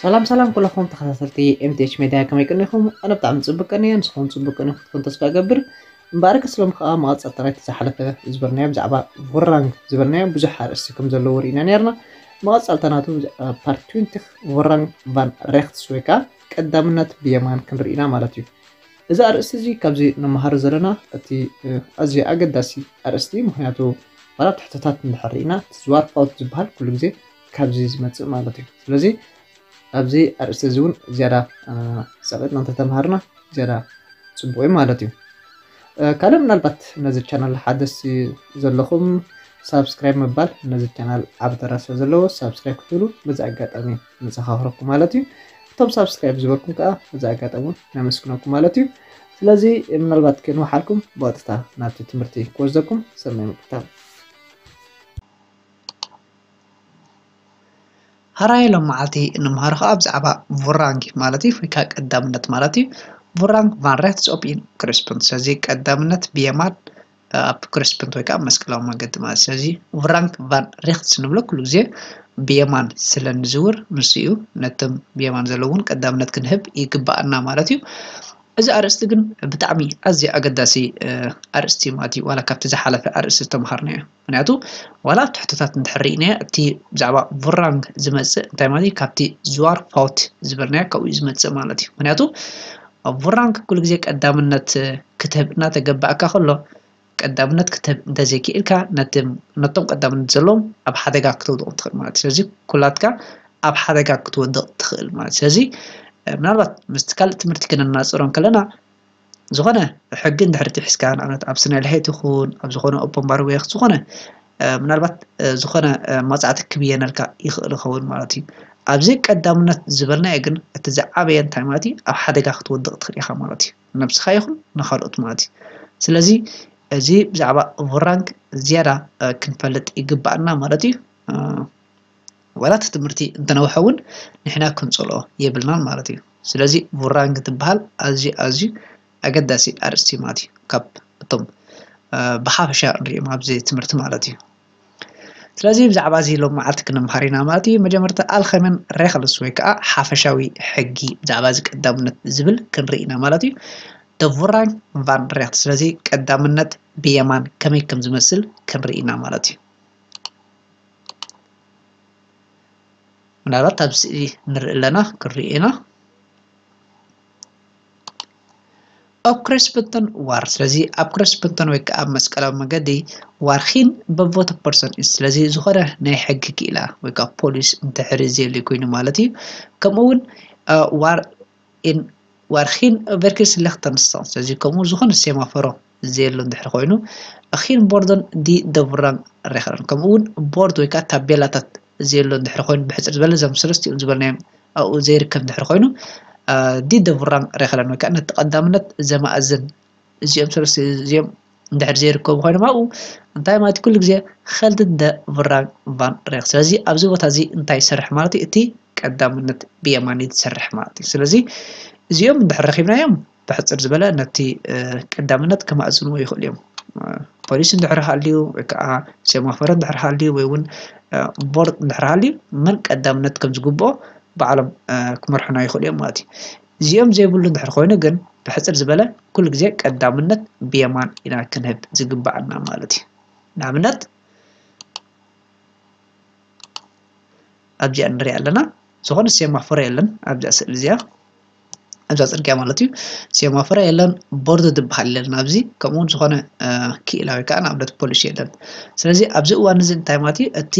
ሰላም ሰላም ኩለኹም ተኸታተልቲ M T H Media፣ ከመይ ቀኒኹም? ኣነ ብጣዕሚ ጽቡቅ ቀኒየ፣ ንስኹም ጽቡቅ ቀኒኹም ክትኮኑ ተስፋ እገብር። እምበኣርከስ ሎም ከኣ መቐጸልታ ናይቲ ዝሓለፈ ዝበልናዮ ብዛዕባ ቡራንግ ዝበልናዮ ብዙሕ ኣርእስቲ ከም ዘለዎ ርኢና ነርና። መቐጸልታ ናቱ ብ part twenty ቡራንግ ቫን ሬኽትስ ወይ ከኣ ቀዳምነት ብየማን ክንርኢ ኢና ማለት እዩ። እዚ ኣርእስቲ እዚ ካብዚ ንመሃር ዘለና እቲ ኣዝዩ ኣገዳሲ ኣርእስቲ፣ ምኽንያቱ ዋላ ትሕቶታት እንድሕር ርኢና እቲ ዝዋር ፋውት ዝበሃል ኩሉ ግዜ ካብዚ ዝመጽእ ማለት እዩ። ስለዚ ኣብዚ ኣርእስቲ እዚ እውን ዝያዳ ጸቂጥና እንተተምሃርና ዝያዳ ጽቡቅ እዩ ማለት እዩ። ካልእ ምናልባት ነዚ ቻናል ሓደስቲ ዘለኹም ሳብስክራይብ ምባል ነዚ ቻናል ዓቢ ተራ ስለ ዘለዎ ሳብስክራይብ ክትብሉ በዚ ኣጋጣሚ ንዘኻኽረኩም ማለት እዩ። እቶም ሳብስክራይብ ዝበልኩም ከዓ በዚ ኣጋጣሚ እውን ነመስግነኩም ማለት እዩ። ስለዚ ምናልባት ከይንወሓልኩም ብቐጥታ ናብቲ ትምህርቲ ክወስደኩም ሰናይ ምክታል። ሀራይ ሎም መዓልቲ እንምሃሮ ከዓ ብዛዕባ ቡራንግ ማለት እዩ ወይ ከዓ ቀዳምነት ማለት እዩ። ቡራንግ ቫን ሬክትስ ኦፕ ኢን ክሪስፕንት። ስለዚ ቀዳምነት ብየማን ኣብ ክሪስፕንት ወይ ከዓ መስቀላዊ መገዲ ማለት። ስለዚ ቡራንግ ቫን ሬክትስ ንብሎ ኩሉ ግዜ ብየማን ስለ ንዝውር ንሱ እዩ። ነቶም ብየማን ዘለውን ቀዳምነት ክንህብ ይግባኣና ማለት እዩ። እዚ ኣርእስቲ ግን ብጣዕሚ ኣዝዩ ኣገዳሲ ኣርእስቲ ማለት እዩ። ዋላ ካብቲ ዝሓለፈ ኣርእስቲ ዝተምሃርናዮ ምክንያቱ ዋላ ኣብቲ ሕቶታት እንድሕር ርኢናዮ እቲ ብዛዕባ ቡራንግ ዝመፅእ እንታይ ማለት እዩ ካብቲ ዝዋር ፋውት ዝበልናዮ ካብኡ እዩ ዝመፅእ ማለት እዩ። ምክንያቱ ኣብ ቡራንግ ኩሉ ግዜ ቀዳምነት ክትህብ እናተገባእካ ከሎ ቀዳምነት ክትህብ እንተዘይክኢልካ ነቶም ቀዳምነት ዘለዎም ኣብ ሓደጋ ክትወድቕ ትኽእል ማለት እዩ። ስለዚ ኩላትካ ኣብ ሓደጋ ክትወድቕ ትኽእል ማለት እዩ። ስለዚ ምናልባት ምስቲ ካልእ ትምህርቲ ክነናፅሮ እንከለና ዝኾነ ሕጊ እንድሕር ጥሒስካ ንኣብነት ኣብ ስነ ልሄት ይኹን ኣብ ዝኾነ ኦፖን ባርዌክ ዝኾነ ምናልባት ዝኾነ መቕፃዕቲ ክብየነልካ ይኽእል ይኸውን ማለት እዩ። ኣብዚ ቀዳምነት ዝበልናዮ ግን እቲ ዝዓበየ እንታይ ማለት እዩ ኣብ ሓደጋ ክትወድቕ ትኽእል ኢኻ ማለት እዩ። ነብስኻ ይኹን ንኻልኦት ማለት እዩ። ስለዚ እዚ ብዛዕባ ቡራንግ ዝያዳ ክንፈልጥ ይግባኣና ማለት እዩ። ዋላ እቲ ትምህርቲ እንተነውሐ እውን ንሕና ክንፀልኦ የብልናን ማለት እዩ። ስለዚ ቡራንግ ትበሃል ኣዝዩ ኣዝዩ ኣገዳሲ ኣርእስቲ ማለት እዩ ካብ እቶም ብሓፈሻ ንሪኦም ኣብዚ ትምህርቲ ማለት እዩ። ስለዚ ብዛዕባ እዚ ሎም መዓልቲ ክንምሃር ኢና ማለት እዩ። መጀመርታ ኣልኸመን ሬክልስ ወይ ከዓ ሓፈሻዊ ሕጊ ብዛዕባ እዚ ቀዳምነት ዝብል ክንርኢ ኢና ማለት እዩ። ደ ቡራንግ ቫን ሬክት ስለዚ ቀዳምነት ብየማን ከመይ ከም ዝመስል ክንርኢ ኢና ማለት እዩ። ምናልባት ኣብ ስእሊ ንርኢ ኣለና ክንርኢ ኢና። ኣብ ክሪስፕንተን ዋር ስለዚ ኣብ ክሪስፕንተን ወይ ከዓ ኣብ መስቀላዊ መገዲ ዋር ኪን በቮተ ፐርሰን እዩ። ስለዚ ዝኾነ ናይ ሕጊ ክኢላ ወይ ከዓ ፖሊስ እንተሕሪ ዘየሉ ኮይኑ ማለት እዩ። ከምኡ እውን ዋር ኢን ዋር ኪን ቨርኪስ ሌክተንስታን ስለዚ ከምኡ ዝኾነ ሴማፈሮ ዘየሎ እንድሕር ኮይኑ ኪን ቦርደን ዲ ደቡራን ሬኸለን ከምኡ እውን ቦርድ ወይ ከዓ ታቤላታት ዘየሎ እንድሕር ኮይኑ ብሕፅር ዝበለ እዞም ሰለስቲኦም ዝበልናዮም ኣብኡ ዘይርከብ እንድሕር ኮይኑ ዲ ደቡራን ሬኸለን ወይ ከዓ ነቲ ቀዳምነት ዘማእዝን እዚኦም ሰለስተ እዚኦም እንድሕር ዘይርከቡ ኮይኖም ኣብኡ እንታይ ማለት ኩሉ ግዜ ኸልድደ ቭራን ቫን ሬክ ስለዚ ኣብዚ ቦታ እዚ እንታይ ይሰርሕ ማለት እዩ እቲ ቀዳምነት ብየማን ትሰርሕ ማለት እዩ። ስለዚ እዚኦም እንድሕር ረኺብናዮም ብሕፅር ዝበለ ነቲ ቀዳምነት ከማእዝንዎ ይኽእሉ እዮም። ፖሊስ እንድሕር ሃልዩ ወይ ከዓ ሴማፎረ እንድሕር ሃልዩ ወይ እውን ቦርድ እንድሕር ሃልዩ መን ቀዳምነት ከም ዝግብኦ ባዕሎም ክመርሑና ይኽእሉ እዮም ማለት እዩ። እዚኦም ዘይብሉ እንድሕር ኮይኑ ግን ብሕፅር ዝበለ ኩሉ ግዜ ቀዳምነት ብየማን ኢና ክንህብ ዝግባኣና ማለት እዩ። ንኣብነት ኣብዚኣ ንሪኣ ኣለና ዝኾነ ሴማፎረ የለን ኣብዚኣ ስእሊ እዚኣ ኣብዛ ፅርግያ ማለት እዩ። ሴማፎረ የለን፣ ቦርድ ዝበሃል የለን ኣብዚ ከምኡ እውን ዝኾነ ክኢላ ወይ ከዓ ንኣብነት ፖሊስ የለን። ስለዚ ኣብዚ እዋን እዚ እንታይ ማለት እዩ እቲ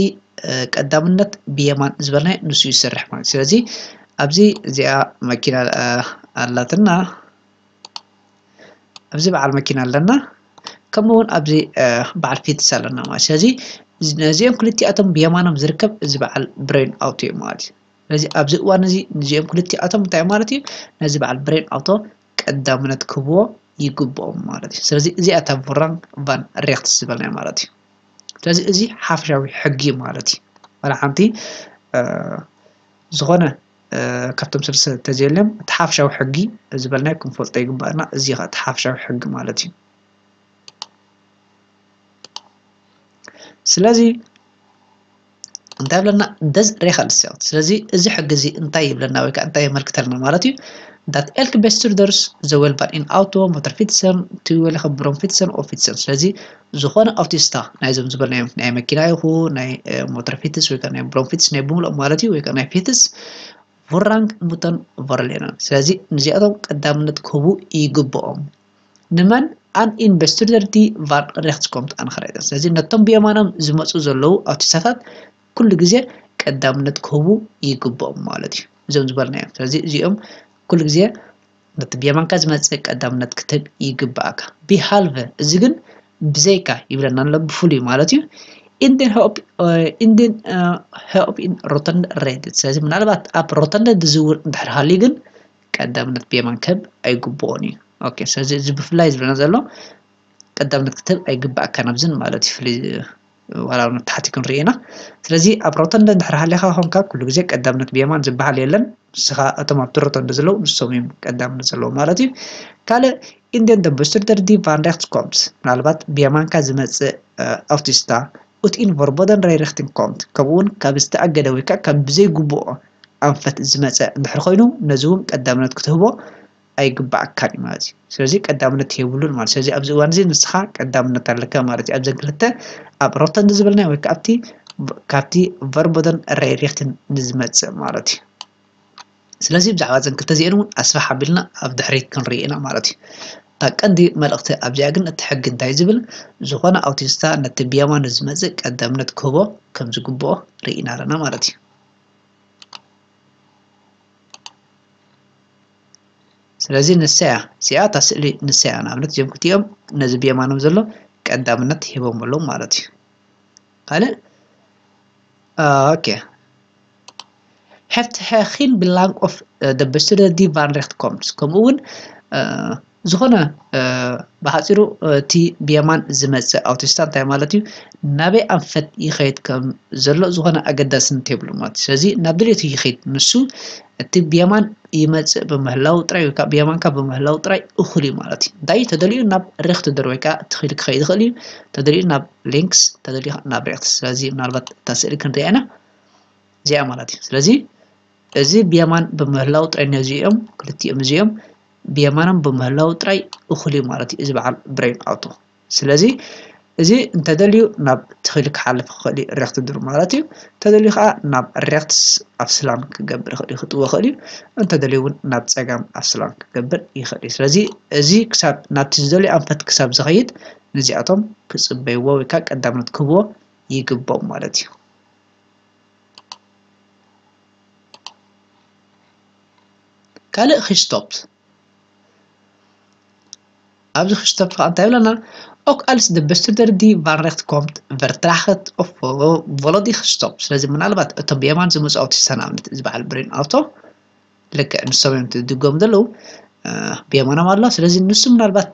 ቀዳምነት ብየማን ዝበልናዮ ንሱ ይሰርሕ ማለት እዩ። ስለዚ ኣብዚ እዚኣ መኪና ኣላትና ኣብዚ በዓል መኪና ኣለና ከምኡ እውን ኣብዚ በዓል ፊትስ ኣለና ማለት ስለዚ ነዚኦም ክልቲኣቶም ብየማኖም ዝርከብ እዚ በዓል ብሬን ኣውቶ እዩ ማለት እዩ። ስለዚ ኣብዚ እዋን እዚ እዚኦም ክልቲኣቶም እንታይ ማለት እዩ ነዚ በዓል ብሬን ኣውቶ ቀዳምነት ክህብዎ ይግብኦም ማለት እዩ። ስለዚ እዚኣ እታ ቡራን ቫን ሬክትስ ዝበልናዮ ማለት እዩ። ስለዚ እዚ ሓፈሻዊ ሕጊ ማለት እዩ። ዋላ ሓንቲ ዝኾነ ካብቶም ሰለስተ ተዘየልዮም እቲ ሓፈሻዊ ሕጊ ዝበልናዮ ክንፈልጦ ይግባእና። እዚ ኸ እቲ ሓፈሻዊ ሕጊ ማለት እዩ። ስለዚ እንታይ ይብለና? Des regelstelt። ስለዚ እዚ ሕጊ እዚ እንታይ ይብለና ወይ ከዓ እንታይ የመልክተልና ማለት እዩ? Dat elke bestuurder zowel van een auto, motorfietsen, tweewielige bromfietsen of fietsen። ስለዚ ዝኾነ ኣውቲስታ ናይዞም ዝበልናዮም ናይ መኪና ይኹን ናይ ሞተር ፊትስ ወይ ከዓ ናይ ብሮም ፊትስ ናይ ብምልኦም ማለት እዩ ወይ ከዓ ናይ ፊትስ ቮራንግ ሙተን ቮርሌነን። ስለዚ ንዚኣቶም ቀዳምነት ክህቡ ይግብኦም። ንመን? ኣን ኢንቨስቱርደር ዲ ቫን ሬክትስኮምት ኣንኸራይተን። ስለዚ ነቶም ብየማኖም ዝመፁ ዘለዉ ኣውቲስታታት ኩሉ ግዜ ቀዳምነት ክህቡ ይግብኦም ማለት እዩ፣ እዞም ዝበልናዮም። ስለዚ እዚኦም ኩሉ ግዜ ነቲ ብየማንካ ዝመፅእ ቀዳምነት ክትህብ ይግብኣካ። ቢሃልቨ እዚ ግን ብዘይካ ይብለና ኣሎ፣ ብፍሉይ ማለት እዩ። ኢንዴን ሄኦፕ ኢን ሮተንደ ሬድት። ስለዚ ምናልባት ኣብ ሮተንደ ዝዝውር እንድሕር ሃልዩ ግን ቀዳምነት ብየማን ክህብ ኣይግብኦን እዩ። ኦኬ፣ ስለዚ እዚ ብፍላይ ዝብለና ዘሎ ቀዳምነት ክትህብ ኣይግባኣካን ኣብዝን ማለት እዩ። ፍሉይ ዋላ እውን ተሓቲ ክንርኢ ኢና። ስለዚ ኣብ ሮተንደ እንድሕር ሃሊኻ ኾንካ ኩሉ ግዜ ቀዳምነት ብየማን ዝበሃል የለን። ንስኻ እቶም ኣብቲ ሮተንደ ዘለዉ ንሶም እዮም ቀዳምነት ዘለዎም ማለት እዩ። ካልእ ኢንዴን ደ ብስቱርደር ዲ ቫን ሬክት ኮምት፣ ምናልባት ብየማንካ ዝመፅእ ኣውቲስታ ኡት ኢን ቨርቦደን ሬሪክቲን ኮምት፣ ከምኡ እውን ካብ ዝተኣገደ ወይ ከዓ ካብ ብዘይግብኦ ኣንፈት ዝመፀ እንድሕር ኮይኑ ነዚ እውን ቀዳምነት ክትህቦ ኣይግባኣካን እዩ ማለት እዩ። ስለዚ ቀዳምነት የብሉን ማለት። ስለዚ ኣብዚ እዋን እዚ ንስኻ ቀዳምነት ኣለካ ማለት እዩ። ኣብዘን ክልተ ኣብ ሮተንድ ዝበልናዮ ወይ ከዓ ኣብቲ ካብቲ ቨርቦደን ሬሪክትን ንዝመፅእ ማለት እዩ። ስለዚ ብዛዕባ እዘን ክልተ እዚአን እውን ኣስፍሕ ኣቢልና ኣብ ድሕሪት ክንርኢ ኢና ማለት እዩ። እታ ቀንዲ መልእኽቲ ኣብዚኣ ግን እቲ ሕጊ እንታይ ዝብል፣ ዝኾነ ኣውቲስታ ነቲ ብየማኑ ዝመፅእ ቀዳምነት ክህቦ ከም ዝግብኦ ርኢና ኣለና ማለት እዩ። ስለዚ ንሳ እያ እዚኣ እታ ስእሊ፣ ንሳ እያ። ንኣብነት እዚኦም ክልቲኦም ነዚ ብየማኖም ዘሎ ቀዳምነት ሂቦም ኣለዉ ማለት እዩ። ካልእ ኦኬ፣ ሄፍት ሄ ኺን ብላንክ ኦፍ ደ በስቱደ ዲ ቫን ሬክት ኮምት። ከምኡ እውን ዝኾነ ብሓፂሩ እቲ ብየማን ዝመፅእ ኣውቲስታ እንታይ ማለት እዩ? ናበይ ኣንፈት ይኸይድ ከም ዘሎ ዝኾነ ኣገዳስነት የብሉ ማለት እዩ። ስለዚ ናብ ድሌቱ ይኸይድ። ንሱ እቲ ብየማን ይመፅእ ብምህላው ጥራይ ወይ ከዓ ብየማንካ ብምህላው ጥራይ እኹል እዩ ማለት እዩ። እንታይ ተደልዩ ናብ ሬክት ደር ወይ ከዓ ትኽእል ክኸይድ ይኽእል እዩ። ተደልዩ ናብ ሊንክስ፣ ተደልዩ ናብ ሬክት። ስለዚ ምናልባት እታ ስእሊ ክንሪኣ ኢና እዚኣ ማለት እዩ። ስለዚ እዚ ብየማን ብምህላው ጥራይ ነዚኦም ክልቲኦም እዚኦም ብየማኖም ብምህላው ጥራይ እኹል እዩ ማለት እዩ እዚ በዓል ብሬን ኣውቶ። ስለዚ እዚ እንተደልዩ ናብ ትኽእል ክሓልፍ ክኽእል እዩ ሬክት ድሩ ማለት እዩ። እንተደልዩ ከዓ ናብ ሬክትስ ኣፍስላን ክገብር ይኽእል እዩ፣ ክጥዎ ይኽእል እዩ። እንተደልዩ እውን ናብ ፀጋም ኣፍስላን ክገብር ይኽእል እዩ። ስለዚ እዚ ክሳብ ናብቲ ዝደልዩ ኣንፈት ክሳብ ዝኸይድ ነዚኣቶም ክፅበይዎ ወይ ከዓ ቀዳምነት ክህብዎ ይግብኦም ማለት እዩ። ካልእ ክስቶፕ ኣብዚ ክስቶፕ ከዓ እንታይ ይብለና? ኦክ ኣልስ ደ በስቱደር ዲ ቫን ሬክት ኮምት ቨርትራኸት ኦፍ ቮሎዲ ክስቶፕ። ስለዚ ምናልባት እቶም ብየማን ዝመፁ ኣውቲስታ ንኣብነት እዚ በዓል ብሬን ኣውቶ ልክዕ ንሶም እዮም ትድገሙ ዘለዉ ብየማኖም ኣሎ። ስለዚ ንሱ ምናልባት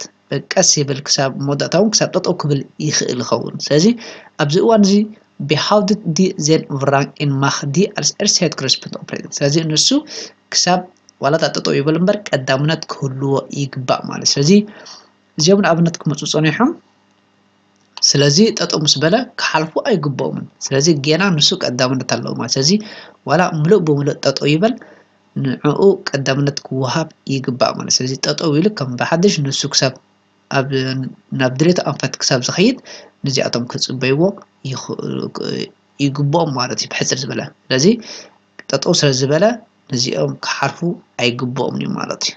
ቀስ ይብል ክሳብ መወዳእታ እውን ክሳብ ጠጠው ክብል ይኽእል ይኸውን። ስለዚ ኣብዚ እዋን እዚ ቢሃውድት ዲ ዜን ቭራንግ ኢን ማኽ ዲ ኣልስ ኤርስሄት ክሪስፕንት ኦፕሬቲንግ። ስለዚ ንሱ ክሳብ ዋላ እታ ጠጠው ይበል እምበር ቀዳምነት ክህልዎ ይግባእ ማለት። ስለዚ እዚኦም ንኣብነት ክመፁ ፀኒሖም። ስለዚ ጠጠው ምስ በለ ክሓልፉ ኣይግብኦምን። ስለዚ ጌና ንሱ ቀዳምነት ኣለዎ ማለት። ስለዚ ዋላ ምሉእ ብምሉእ ጠጠው ይበል ንዕኡ ቀዳምነት ክወሃብ ይግባእ ማለት። ስለዚ ጠጠው ኢሉ ከም ብሓድሽ ንሱ ክሳብ ኣብ ናብ ድሌቱ ኣንፈት ክሳብ ዝኸይድ ነዚኣቶም ክፅበይዎ ይኽእሉ ይግብኦም ማለት እዩ። ብሕፅር ዝበለ ስለዚ ጠጠው ስለ ዝበለ ነዚኦም ክሓልፉ ኣይግብኦምን እዩ ማለት እዩ።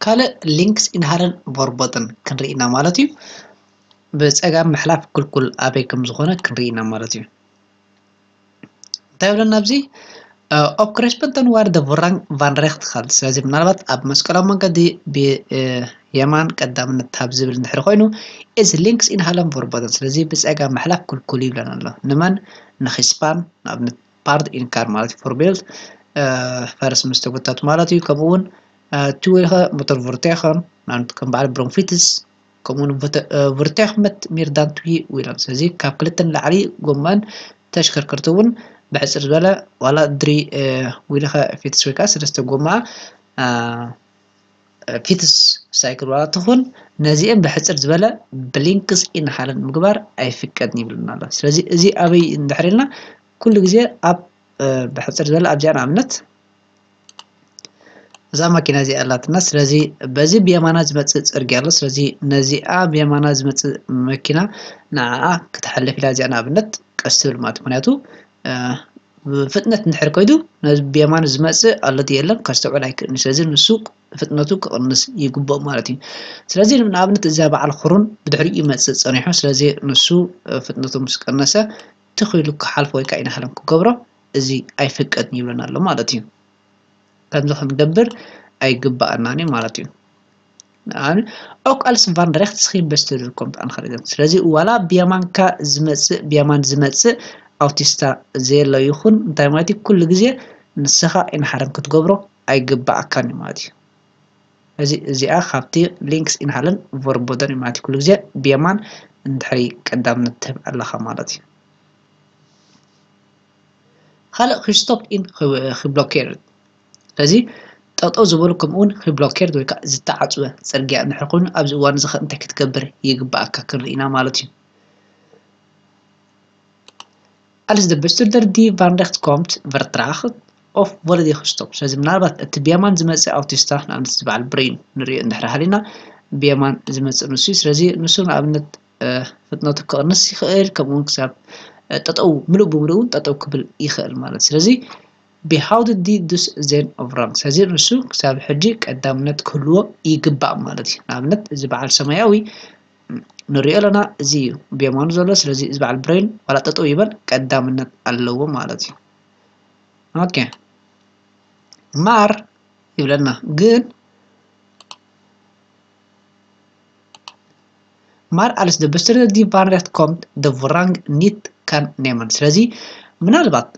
ካልእ ሊንክስ ኢንሃለን ቮርቦተን ክንርኢ ኢና ማለት እዩ። ብፀጋም ምሕላፍ ክልኩል ኣበይ ከም ዝኾነ ክንርኢ ኢና ማለት እዩ። እንታይ ይብለና ኣብዚ? ኦፕ ክሬስፐንተን ዋር ደ ቮራንግ ቫን ሬክት ኻል። ስለዚ ምናልባት ኣብ መስቀላዊ መንገዲ ብየማን ቀዳምነት ሃብ ዝብል እንድሕር ኮይኑ እዚ ሊንክስ ኢንሃለን ቮርቦተን። ስለዚ ብፀጋም ምሕላፍ ክልኩል ይብለና ኣሎ። ንመን? ንኺስፓን ንኣብነት ፓርት ኢንካር ማለት እዩ። ፎርቤልት ፈረስ ምስ ተጎታቱ ማለት እዩ። ከምኡ እውን ትዊልኸ ሞተር ቮርቴኸን ንኣብነት ከም በዓል ብሮንፊትስ ከምኡ እውን ቮርቴኽ መት ሚርዳን ትዊ ዊለን። ስለዚ ካብ ክልተ ንላዕሊ ጎማን ተሽከርከርቲ እውን ብሕፅር ዝበለ ዋላ ድሪ ዊልኸ ፊትስ ወይ ከዓ ሰለስተ ጎማ ፊትስ ሳይክል ዋላ ትኹን ነዚአን ብሕፅር ዝበለ ብሊንክስ ኢንሃለን ምግባር ኣይፍቀድን ይብልና ኣሎ። ስለዚ እዚ ኣበይ እንድሕር ኢልና ኩሉ ግዜ ኣብ ብሕፅር ዝበለ ኣብዚኣ ንኣብነት እዛ መኪና እዚኣ ኣላትና። ስለዚ በዚ ብየማና ዝመፅእ ፅርግያ ኣሎ። ስለዚ ነዚኣ ብየማና ዝመፅእ መኪና ንዓኣ ክትሓልፍ ኢላ እዚኣ ንኣብነት ቀስ ትብል ማለት ምክንያቱ ብፍጥነት እንድሕር ከይዱ ነዚ ብየማኑ ዝመፅእ ኣሎ ድዩ የለን ከስተውዕል ኣይክእልን። ስለዚ ንሱ ፍጥነቱ ክቕንስ ይግብኦ ማለት እዩ። ስለዚ ንኣብነት እዚኣ በዓል ክሩን ብድሕሪኡ ይመፅእ ፀኒሑ። ስለዚ ንሱ ፍጥነቱ ምስ ቀነሰ ትኽ ኢሉ ክሓልፎ ወይ ከዓ ኢንሃለን ክገብሮ እዚ ኣይፍቀድን ይብለና ኣሎ ማለት እዩ። ከምዚ ክንገብር ኣይግባኣናን እዩ ማለት እዩ። Ook als van rechts geen bestuurder komt aangereden. ስለዚ ዋላ ብየማንካ ዝመፅእ ብየማን ዝመፅእ ኣውቲስታ ዘየሎ ይኹን እንታይ ማለት እዩ ኩሉ ግዜ ንስኻ ኢንሃለን ክትገብሮ ኣይግባኣካን እዩ ማለት እዩ። እዚ እዚኣ ካብቲ ሊንክስ ኢንሃለን ቨርቦደን እዩ ማለት እዩ። ኩሉ ግዜ ብየማን እንድሕሪ ቀዳምነት ትህብ ኣለኻ ማለት እዩ። ካልእ ክስቶፕ ኢን ክብሎኬርድ ስለዚ ጠጠው ዝበሉ ከምኡውን ክብሎኬርድ ወይ ከዓ ዝተዓፅወ ፅርግያ እንድሕር ኮይኑ ኣብዚ እዋን እዚ ከ እንታይ ክትገብር ይግባኣካ ክንርኢ ኢና ማለት እዩ። Als de bestuurder die van rechts komt vertraagt of wordt hij gestopt. ስለዚ ምናልባት እቲ ብየማን ዝመፅእ ኣውቲስታ ንኣብነት ዝበዓል ብሬን ንሪኦ እንድሕር ሃሊና ብየማን ዝመፅእ ንሱ እዩ። ስለዚ ንሱ ንኣብነት ፍጥነቱ ክቕንስ ይኽእል ከምኡውን ክሳብ ጠጠው ምሉእ ብምሉእ እውን ጠጠው ክብል ይኽእል ማለት ስለዚ behoudt die dus zijn voorrang ስለዚ ንሱ ክሳብ ሕጂ ቀዳምነት ክህልዎ ይግባእ ማለት እዩ። ንኣብነት እዚ በዓል ሰማያዊ ንሪኦ ኣለና እዚ እዩ ብየማኑ ዘሎ። ስለዚ እዚ በዓል ብሬን ዋላ ጠጠው ይበል ቀዳምነት ኣለዎ ማለት እዩ። ኦኬ maar ይብለና ግን maar als de bestuurder die van rechts komt de voorrang niet kan nemen ስለዚ ምናልባት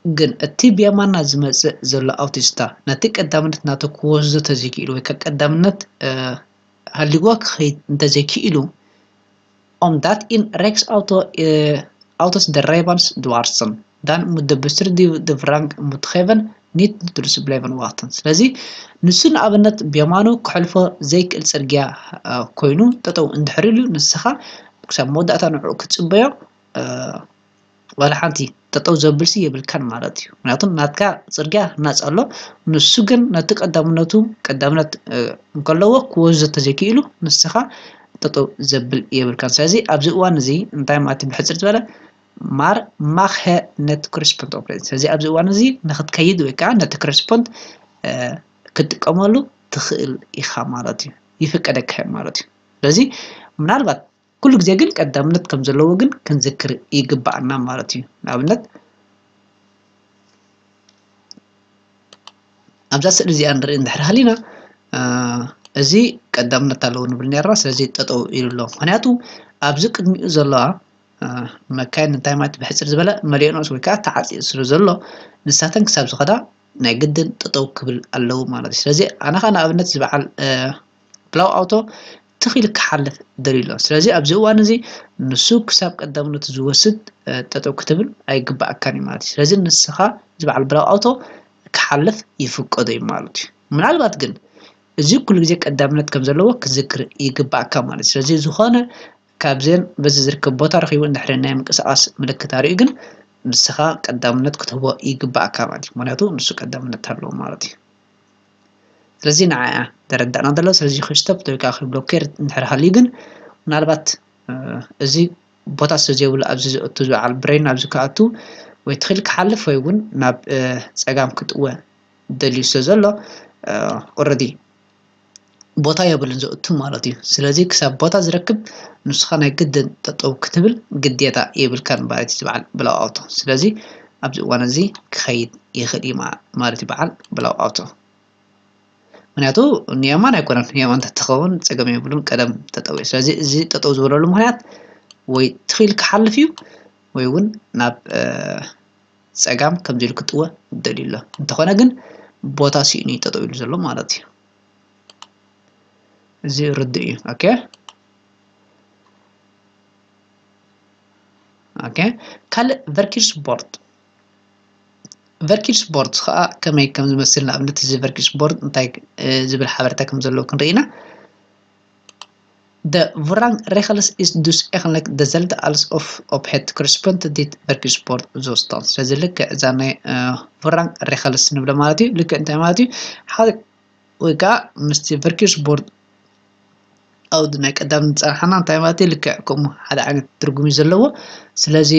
ግን እቲ ብየማና ዝመፅእ ዘሎ ኣውቲስታ ነቲ ቀዳምነት ናቱ ክወስዶ ተዘይክኢሉ ወይ ከዓ ቀዳምነት ሃልይዎ ክኸይድ እንተዘይክኢሉ omdat in rechts auto auto's de rijbans dwarsen dan moet de bestuurder die de voorrang moet geven niet dus blijven wachten ስለዚ ንሱ ንኣብነት ብየማኑ ክሕልፎ ዘይክእል ፅርግያ ኮይኑ ጠጠው እንድሕር ኢሉ ንስኻ ክሳብ መወዳእታ ንዕኡ ክትፅበዮ ዋላ ሓንቲ ጠጠው ዘብልሲ የብልካን ማለት እዩ። ምክንያቱም ናትካ ፅርግያ ናፃ ኣሎ፣ ንሱ ግን ነቲ ቀዳምነቱ ቀዳምነት እንከለዎ ክወስዶ ተዘይክኢሉ ንስኻ ጠጠው ዘብል የብልካን። ስለዚ ኣብዚ እዋን እዚ እንታይ ማለት እዩ? ብሕፅር ዝበለ maar mag hij niet correspond opleiden ስለዚ ኣብዚ እዋን እዚ ንክትከይድ ወይ ከዓ ነቲ correspond ክትጥቀመሉ ትኽእል ኢኻ ማለት እዩ፣ ይፍቀደካ ማለት እዩ። ስለዚ ምናልባት ኩሉ ግዜ ግን ቀዳምነት ከም ዘለዎ ግን ክንዝክር ይግባኣና ማለት እዩ። ንኣብነት ኣብዛ ስእሊ እዚኣ ንርኢ እንድሕር ሃሊና እዚ ቀዳምነት ኣለዎ ንብል ነርና። ስለዚ ጠጠው ኢሉ ኣሎ፣ ምክንያቱ ኣብዚ ቅድሚኡ ዘለዋ መካይን እንታይ ማለት ብሕፅር ዝበለ መሊኦንኦስ ወይ ከዓ ተዓፂኡ ስለ ዘሎ ንሳተን ክሳብ ዝኸዳ ናይ ግድን ጠጠው ክብል ኣለዎ ማለት እዩ። ስለዚ ኣነ ከዓ ንኣብነት ዝበዓል ብላው ኣውቶ ትኽ ኢሉ ክሓልፍ ደልዩ ኣሎ። ስለዚ ኣብዚ እዋን እዚ ንሱ ክሳብ ቀዳምነቱ ዝወስድ ጠጠው ክትብል ኣይግባኣካን እዩ ማለት እዩ። ስለዚ ንስኻ ዝበዓል ብላው ኣውቶ ክሓልፍ ይፍቀዶ እዩ ማለት እዩ። ምናልባት ግን እዚ ኩሉ ግዜ ቀዳምነት ከም ዘለዎ ክዝክር ይግባኣካ ማለት እዩ። ስለዚ ዝኾነ ካብዘን በዚ ዝርከብ ቦታ ረኺቡ እንድሕር ናይ ምንቅስቃስ ምልክት ኣርእዩ ግን ንስኻ ቀዳምነት ክትህቦ ይግባኣካ ማለት እዩ። ምክንያቱ ንሱ ቀዳምነት ኣለዎ ማለት እዩ። ስለዚ ንዓያ ተረዳእና ዘሎ። ስለዚ ክስቶፕ ወይ ከዓ ብሎኬር እንድሕር ሃልዩ ግን ምናልባት እዚ ቦታ ስለ ዘይብሉ ኣብዚ ዝእቱ ዝበዓል ብሬን ኣብዚ ክኣቱ ወይ ትኽእል ክሓልፍ ወይ እውን ናብ ፀጋም ክጥወ ደልዩ ስለ ዘሎ ኦረዲ ቦታ የብሉን ዘእቱ ማለት እዩ። ስለዚ ክሳብ ቦታ ዝረክብ ንስኻ ናይ ግድን ጠጠው ክትብል ግዴታ የብልካን ማለት እዩ ዝበዓል ብላው ኣውቶ። ስለዚ ኣብዚ እዋን እዚ ክኸይድ ይኽእል እዩ ማለት እዩ በዓል ብላው ኣውቶ። ምክንያቱ ንየማን ኣይኮነን፣ ንየማን እንተትኸውን ፀገም የብሉን ቀደም ጠጠው እዩ። ስለዚ እዚ ጠጠው ዝበለሉ ምክንያት ወይ ትኽእል ክሓልፍ እዩ ወይ እውን ናብ ፀጋም ከምዚ ኢሉ ክጥወ ደልዩ ኣሎ። እንተኾነ ግን ቦታ ስኢኑ እዩ ጠጠው ኢሉ ዘሎ ማለት እዩ። እዚ ርዱእ እዩ። ኦኬ ኦኬ ካልእ ቨርኪርስቦርድ verkeersbord ከዓ ከመይ ከም ዝመስል፣ ንኣብነት እዚ verkeersbord እንታይ ዝብል ሓበሬታ ከም ዘለዎ ክንርኢ ኢና። De voorrangregels is dus eigenlijk dezelfde als of op het correspondent verkeersbord zou staan. ስለዚ ልክዕ እዛ ናይ voorrangregels ንብሎ ማለት እዩ። ልክዕ እንታይ ማለት እዩ? ሓደ ወይ ከዓ ምስቲ verkeersbord ኣውድ ናይ ቀዳም ዝፀናሓና እንታይ ማለት እዩ? ልክዕ ከምኡ ሓደ ዓይነት ትርጉም እዩ ዘለዎ። ስለዚ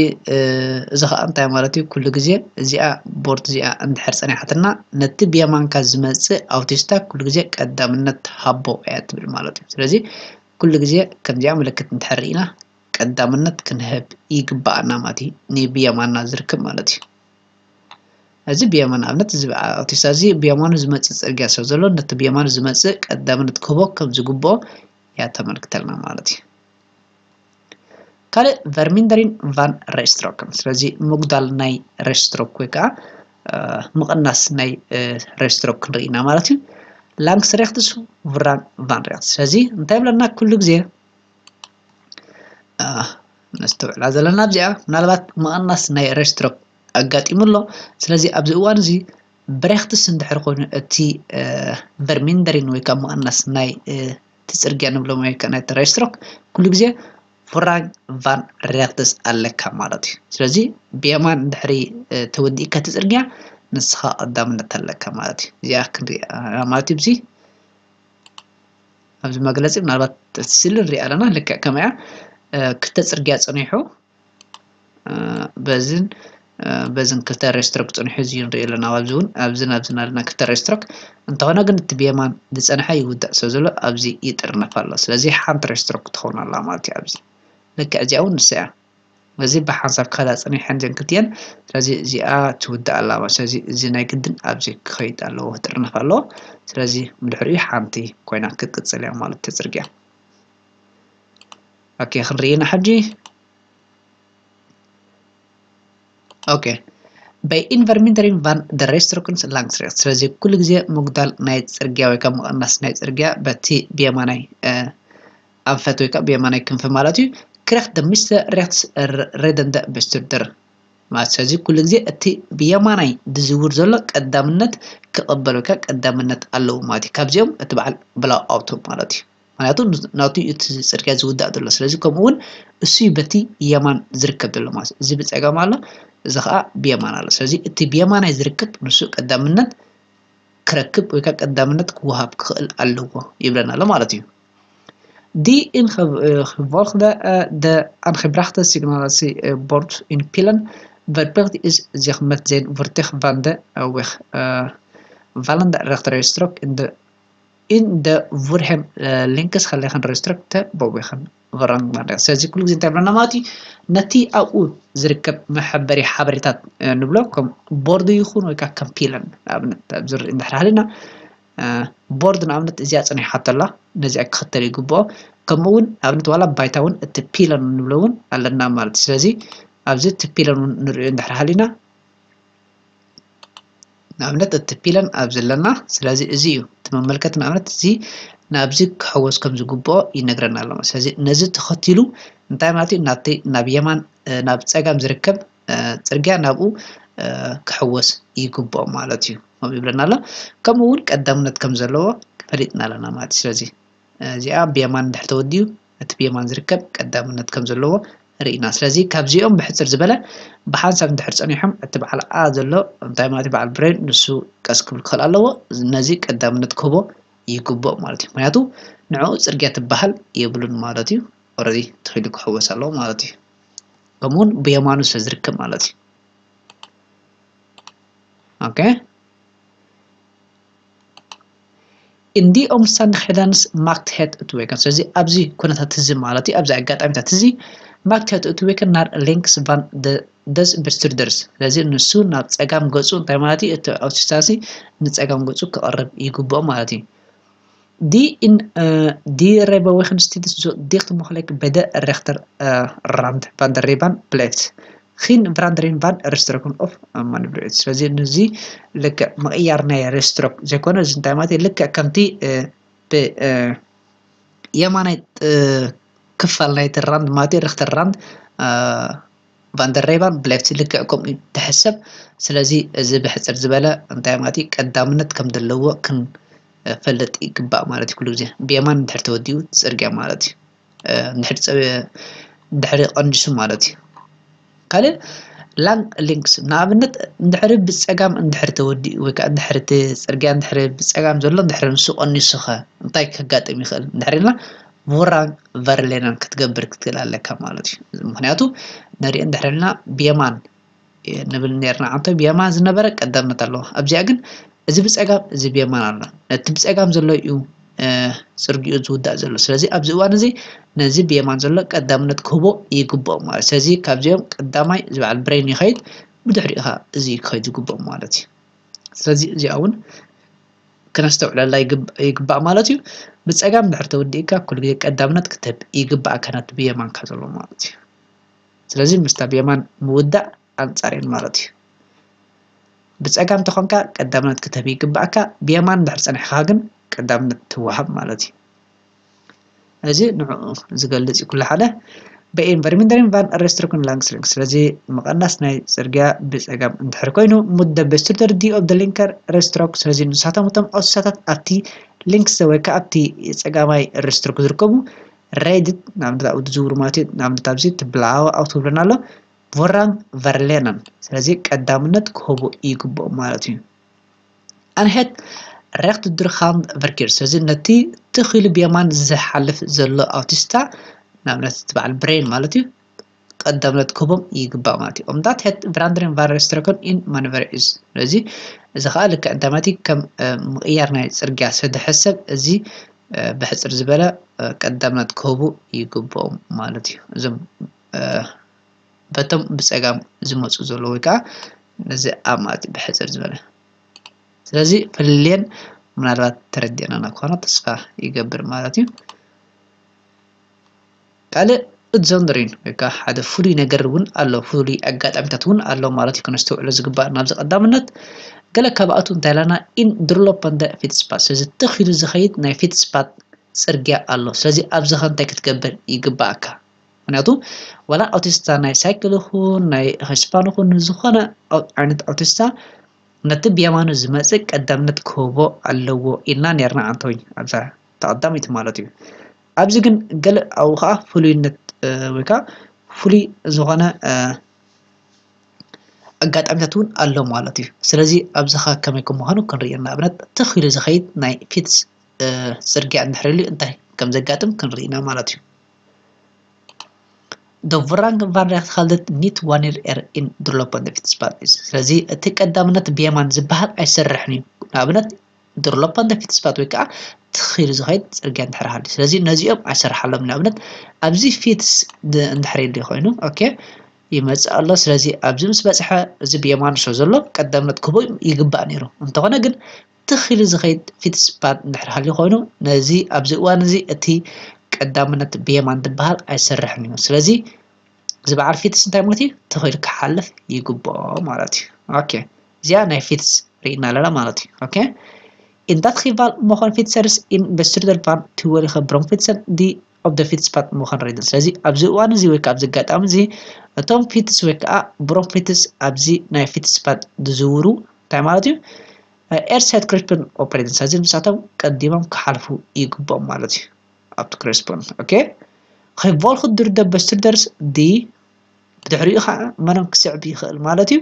እዚ ከዓ እንታይ ማለት እዩ? ኩሉ ግዜ እዚኣ ቦርድ እዚኣ እንድሕር ፀኒሓትና ነቲ ብየማንካ ዝመፅእ ኣውቲስታ ኩሉ ግዜ ቀዳምነት ሃቦ እያ ትብል ማለት እዩ። ስለዚ ኩሉ ግዜ ከምዚኣ ምልክት እንድሕር ርኢና ቀዳምነት ክንህብ ይግባኣና ማለት እዩ፣ ንብየማና ዝርከብ ማለት እዩ። እዚ ብየማን ኣብነት ኣውቲስታ እዚ ብየማኑ ዝመፅእ ፅርግያ ሰብ ዘሎ ነቲ ብየማኑ ዝመፅእ ቀዳምነት ክህቦ ከም ዝግብኦ እያ ተመልክተልና ማለት እዩ። ካልእ vermindering van rijstroken። ስለዚ ምጉዳል ናይ rijstrook ወይ ከዓ ምቕናስ ናይ rijstrook ክንርኢ ኢና ማለት እዩ። Langs rechts, voorrang van rechts። ስለዚ እንታይ ይብለና? ኩሉ ግዜ ነስተውዕላ ዘለና ኣብዚኣ ምናልባት ምቕናስ ናይ rijstrook ኣጋጢሙ ኣሎ። ስለዚ ኣብዚ እዋን እዚ ብሬክትስ እንድሕር ኮይኑ እቲ vermindering ወይ ከዓ ምቕናስ ናይ እቲ ፅርግያ ንብሎም ወይ ከዓ ናይ rijstrook ኩሉ ግዜ voorrang van rechts ኣለካ ማለት እዩ። ስለዚ ብየማን እንድሕሪ ተወዲእካ እቲ ፅርግያ ንስኻ ቀዳምነት ኣለካ ማለት እዩ። እዚኣ ክንሪኣ ማለት እዩ። እዚ ኣብዚ መግለፂ ምናልባት ስእሊ ንሪኣ ኣለና። ልክዕ ከምያ ክልተ ፅርግያ ፀኒሑ በዝን በዝን ክልተ rijstrook ፀኒሑ እዚ ንሪኦ ኣለና። ኣብዚ እውን ኣብዝን ኣብዝን ኣለና ክልተ rijstrook። እንተኾነ ግን እቲ ብየማን ዝፀንሐ ይውዳእ ስለ ዘሎ ኣብዚ ይጥርነፍ ኣሎ። ስለዚ ሓንቲ rijstrook ትኸውን ኣላ ማለት እዩ። ኣብዚ ልክዕ እዚኣ እውን ንሳ እያ። እዚ ብሓንሳብ ክኸዳ ፀኒሐን እዘን ክልቲኤን። ስለዚ እዚኣ ትውዳእ ኣላ ማለት። ስለዚ እዚ ናይ ግድን ኣብዚ ክኸይድ ኣለዎ፣ ክጥርነፍ ኣለዎ። ስለዚ ብድሕሪኡ ሓንቲ ኮይና ክትቅፅል እያ ማለት እቲ ፅርግያ። ኦኬ፣ ክንርኢ ኢና ሕጂ። ኦኬ፣ vermindering van de rijstroken langs rechts። ስለዚ ኩሉ ግዜ ምጉዳል ናይ ፅርግያ ወይ ከዓ ምቕናስ ናይ ፅርግያ በቲ ብየማናይ ኣንፈት ወይ ከዓ ብየማናይ ክንፊ ማለት እዩ። Krijgt de meeste rechts rijdende bestuurder ማለት። ስለዚ ኩሉ ግዜ እቲ ብየማናይ ዝዝውር ዘሎ ቀዳምነት ክቕበል ወይ ከዓ ቀዳምነት ኣለዎ ማለት እዩ። ካብዚኦም እቲ በዓል ብላው ኣውቶ ማለት እዩ። ምክንያቱ ናቱ እቲ ፅርግያ ዝውዳእ ዘሎ። ስለዚ ከምኡ እውን እሱ በቲ የማን ዝርከብ ዘሎ ማለት እዩ። እዚ ብፀጋም ኣሎ፣ እዚ ከዓ ብየማን ኣሎ። ስለዚ እቲ ብየማናይ ዝርከብ ንሱ ቀዳምነት ክረክብ ወይ ከዓ ቀዳምነት ክወሃብ ክኽእል ኣለዎ ይብለና ኣሎ ማለት እዩ። Die ingevolge de aangebrachte signalatiebord in Pielen verplicht is zich met zijn voertuig van de weg vallende rechterrijstrook in de in de voor hem links gelegen rijstrook te bewegen. Voorrang van rechts. ስለዚ ኩሉ ግዜ እንታይ ብለና ማለት እዩ? ነቲ ኣብኡ ዝርከብ መሐበሪ ሓበሬታት ንብሎ ከም ቦርድ ይኹን ወይ ከዓ ከም ፒለን ንኣብነት ኣብዚ ንርኢ እንድሕር ሃሊና ቦርድ ንኣብነት እዚኣ ፀኒሓቶ ኣላ፣ ነዚኣ ክኽተል ይግብኦ። ከምኡ እውን ንኣብነት ዋላ ባይታ እውን እቲ ፒለን ንብሎ እውን ኣለና ማለት እዩ። ስለዚ ኣብዚ እቲ ፒለን እውን ንሪኦ እንድሕር ሃሊና ንኣብነት እቲ ፒለን ኣብዚ ኣለና። ስለዚ እዚ እዩ እቲ መመልከቲ። ንኣብነት እዚ ናብዚ ክሕወስ ከም ዝግብኦ ይነግረና ኣሎ። ስለዚ ነዚ ተኸቲሉ እንታይ ማለት እዩ? ናብቲ ናብ የማን ናብ ፀጋም ዝርከብ ፅርግያ ናብኡ ክሕወስ ይግብኦ ማለት እዩ። ከምኡ ይብለና ኣሎ። ከምኡ እውን ቀዳምነት ከም ዘለዎ ፈሊጥና ኣለና ማለት እዩ። ስለዚ እዚኣ ብየማን እንድሕር ተወዲኡ እቲ ብየማን ዝርከብ ቀዳምነት ከም ዘለዎ ርኢና። ስለዚ ካብዚኦም ብሕፅር ዝበለ ብሓንሳብ እንድሕር ፀኒሖም እቲ በዓል ኣ ዘሎ እንታይ ማለት እዩ? በዓል ብሬን ንሱ ቀስ ክብል ክኽእል ኣለዎ። ነዚ ቀዳምነት ክህቦ ይግብኦ ማለት እዩ። ምክንያቱ ንዕኡ ፅርግያ ትበሃል የብሉን ማለት እዩ። ኦረዲ ተኺሉ ክሕወስ ኣለዎ ማለት እዩ። ከምኡውን ብየማኑ ስለ ዝርከብ ማለት እዩ። ኦኬ። In die omstandigheden maakt het het weken. ስለዚ ኣብዚ ኩነታት እዚ ማለት እዩ፣ ኣብዚ ኣጋጣሚታት እዚ maakt het het weken naar links van de des bestuurders። ስለዚ ንሱ ናብ ፀጋም ገፁ እንታይ ማለት እዩ? እቲ ኣውቲስታሲ ንፀጋም ገፁ ክቐርብ ይግብኦ ማለት እዩ። Die in die rijbewijssteeds zo dicht mogelijk bij de rechterrand van de rijbaan blijft. Geen verandering van rijstroken of manipulatie. ስለዚ ንዚ ልክዕ ምቕያር ናይ rijstrook ዘይኮነ እዚ እንታይ ማለት እዩ? ልክዕ ከምቲ ብየማናይ ክፋል ናይቲ rand ማለት እዩ፣ rechter rand ቫንደር ሬባን ብሌፍት ልክዕ ከምኡ እዩ ትሕሰብ። ስለዚ እዚ ብሕፅር ዝበለ እንታይ ማለት እዩ ቀዳምነት ከም ዘለዎ ክንፈልጥ ይግባእ ማለት እዩ። ኩሉ ግዜ ብየማን እንድሕር ተወዲኡ እቲ ፅርግያ ማለት እዩ። እንድሕር ቀንዲሱ ማለት እዩ። ካልእ ላንግ ሊንክስ ንኣብነት እንድሕር ብፀጋም እንድሕር ተወዲኡ ወይ ከዓ እንድሕር እቲ ፅርግያ እንድሕር ብፀጋም ዘሎ እንድሕር ንሱ ቀኒሱ ኸ እንታይ ከጋጥም ይኽእል እንድሕር ኢልና ቮራን ቨርሌናን ክትገብር ክትክእል ኣለካ ማለት እዩ። ምክንያቱ ንርኢ እንድሕር ኢልና ብየማን ንብል ነርና ዓንቶ ብየማን ዝነበረ ቀዳምነት ኣለዎ። ኣብዚኣ ግን እዚ ብፀጋም እዚ ብየማን ኣሎ። ነቲ ብፀጋም ዘሎ እዩ ፅርጊኡ ዝውዳእ ዘሎ። ስለዚ ኣብዚ እዋን እዚ ነዚ ብየማን ዘሎ ቀዳምነት ክህቦ ይግብኦ ማለት። ስለዚ ካብዚኦም ቀዳማይ እዚ በዓል ብሬን ይኸይድ፣ ብድሕሪኡ ኸዓ እዚ ክኸይድ ዝግብኦ ማለት እዩ። ስለዚ እዚኣ እውን ክነስተውዕለላ ይግባእ ማለት እዩ። ብፀጋም ድሕር ተወዲእካ ኩሉ ግዜ ቀዳምነት ክትህብ ይግባእካ ነቲ ብየማንካ ዘሎ ማለት እዩ። ስለዚ ምስታ ብየማን ምውዳእ ኣንፃር እየን ማለት እዩ። ብፀጋም ተኾንካ ቀዳምነት ክትህብ ይግባእካ፣ ብየማን ድሕር ፀኒሕካ ግን ቀዳምነት ትወሃብ ማለት እዩ። እዚ ንዕኡ ዝገልፅ እዩ ኩሉ ሓደ በኤን ቨርሚንደሪን ቫን ሬስትሮክን ላንግስሊንግ። ስለዚ ምቐናስ ናይ ፅርግያ ብፀጋም እንድሕር ኮይኑ ሙደ በስቱደር ዲ ኦፍ ደ ሊንከር ሬስትሮክ። ስለዚ ንሳቶም እቶም ኦሳታት ኣብቲ ሊንክስ ወይ ከዓ ኣብቲ ፀጋማይ ሬስትሮክ ዝርከቡ ሬድት ንኣብነት ኣብኡ ዝዝውሩ ማለት እዩ። ንኣብነት ኣብዚ ትብላዋ ኣውቶ ብለና ኣሎ ቮራን ቨርሌናን። ስለዚ ቀዳምነት ክህቡ ይግብኦም ማለት እዩ። ኣንሄት ሬክት ድርኻን ቨርኪር። ስለዚ ነቲ ትኺሉ ብየማን ዝሓልፍ ዘሎ ኣውቲስታ ንኣብነት እቲ በዓል ብሬን ማለት እዩ ቀዳምነት ክህቦም ይግባእ ማለት እዩ። ኦምዳት ሄት ቨራንድሪን ቫረስትረኮን ኢን ማንቨር ኢዝ። ስለዚ እዚ ከዓ ልክዕ እንታይ ማለት እዩ ከም ምቕያር ናይ ፅርግያ ስለ ዝሕሰብ እዚ ብሕፅር ዝበለ ቀዳምነት ክህቡ ይግብኦም ማለት እዩ። እዞም በቶም ብፀጋም ዝመፁ ዘለዉ ወይ ከዓ ነዚ ኣብ ማለት ብሕፅር ዝበለ ስለዚ ፍልልየን ምናልባት ተረዲእናና ክኾነ ተስፋ ይገብር ማለት እዩ። ካልእ እትዘንድሪን ወይ ከዓ ሓደ ፍሉይ ነገር እውን ኣሎ፣ ፍሉይ ኣጋጣሚታት እውን ኣሎ ማለት እዩ። ክነስተውዕሎ ዝግባእ ናብዚ ቀዳምነት ገለ ካብኣቱ እንታይ ኢላና ኢን ድርሎፐንደ ፊትስፓት። ስለዚ ትኽ ኢሉ ዝኸይድ ናይ ፊትስፓት ፅርግያ ኣሎ። ስለዚ ኣብዚ ኸ እንታይ ክትገብር ይግባእካ? ምክንያቱ ዋላ ኣውቲስታ ናይ ሳይክል ይኹን ናይ ኸሽፓን ይኹን ዝኾነ ዓይነት ኣውቲስታ ነቲ ብየማኑ ዝመፅእ ቀዳምነት ክህቦ ኣለዎ ኢልና ነርና ዓንቶይ ኣብዛ ተቐዳሚት ማለት እዩ። ኣብዚ ግን ገለ ኣብኡ ከዓ ፍሉይነት ወይ ከዓ ፍሉይ ዝኾነ ኣጋጣሚታት እውን ኣሎ ማለት እዩ። ስለዚ ኣብዚ ከዓ ከመይ ከምዃኑ ክንርኢ ንኣብነት ትኽ ኢሉ ዝኸይድ ናይ ፊትስ ፅርግያ እንድሕር ኢሉ እንታይ ከም ዘጋጥም ክንርኢ ኢና ማለት እዩ። ደ ቮራንግ ቫን ሬክት ሃልደት ኒት ዋኒር ኤር ኢን ድርሎፐንደ ፊትስፓት ኢዝ። ስለዚ እቲ ቀዳምነት ብየማን ዝበሃል ኣይሰርሕን እዩ። ንኣብነት ድርሎፐንደ ፊትስፓት ወይ ከዓ ትኽ ኢሉ ዝኸይድ ፅርግያ እንድሕር ሃልዩ። ስለዚ ነዚኦም ኣይሰርሓሎም። ንኣብነት ኣብዚ ፊትስ እንድሕር ኢሉ ኮይኑ ኦኬ ይመፅእ ኣሎ። ስለዚ ኣብዚ ምስ በፅሐ እዚ ብየማኑ ስለ ዘሎ ቀዳምነት ክህቦ ይግባእ ነይሩ። እንተኾነ ግን ትኽ ኢሉ ዝኸይድ ፊትስፓት እንድሕር ሃልዩ ኮይኑ ነዚ ኣብዚ እዋን እዚ እቲ ቀዳምነት ብየማን ዝበሃል ኣይሰርሕን እዩ። ስለዚ እዚ በዓል ፊትስ እንታይ ማለት እዩ? ትኽ ኢሉ ክሓልፍ ይግብኦ ማለት እዩ። ኦኬ እዚኣ ናይ ፊትስ ርኢና ኣለና ማለት እዩ። ኦኬ ኢንዳት ኺቫል መኾን ፊትሰርስ ኢን በስትርደል ቫን ትወሊኸ ብሮም ፊትሰን ዲ ኦፍ ደ ፊትስፓት መኾን ሬድን። ስለዚ ኣብዚ እዋን እዚ ወይ ከዓ ኣብዚ ኣጋጣሚ እዚ እቶም ፊትስ ወይ ከዓ ብሮም ፊትስ ኣብዚ ናይ ፊትስፓት ዝዝውሩ እንታይ ማለት እዩ? ኤርሳይድ ክሪስፕን ኦፕሬቲንግ ስለዚ ንሳቶም ቀዲሞም ክሓልፉ ይግብኦም ማለት እዩ። ኣብቲ ክሪስፕን ኦኬ ኸይቦልኩ ድርደ በስትርደርስ ዲ ብድሕሪኡ ከዓ መኖም ክስዕብ ይኽእል ማለት እዩ።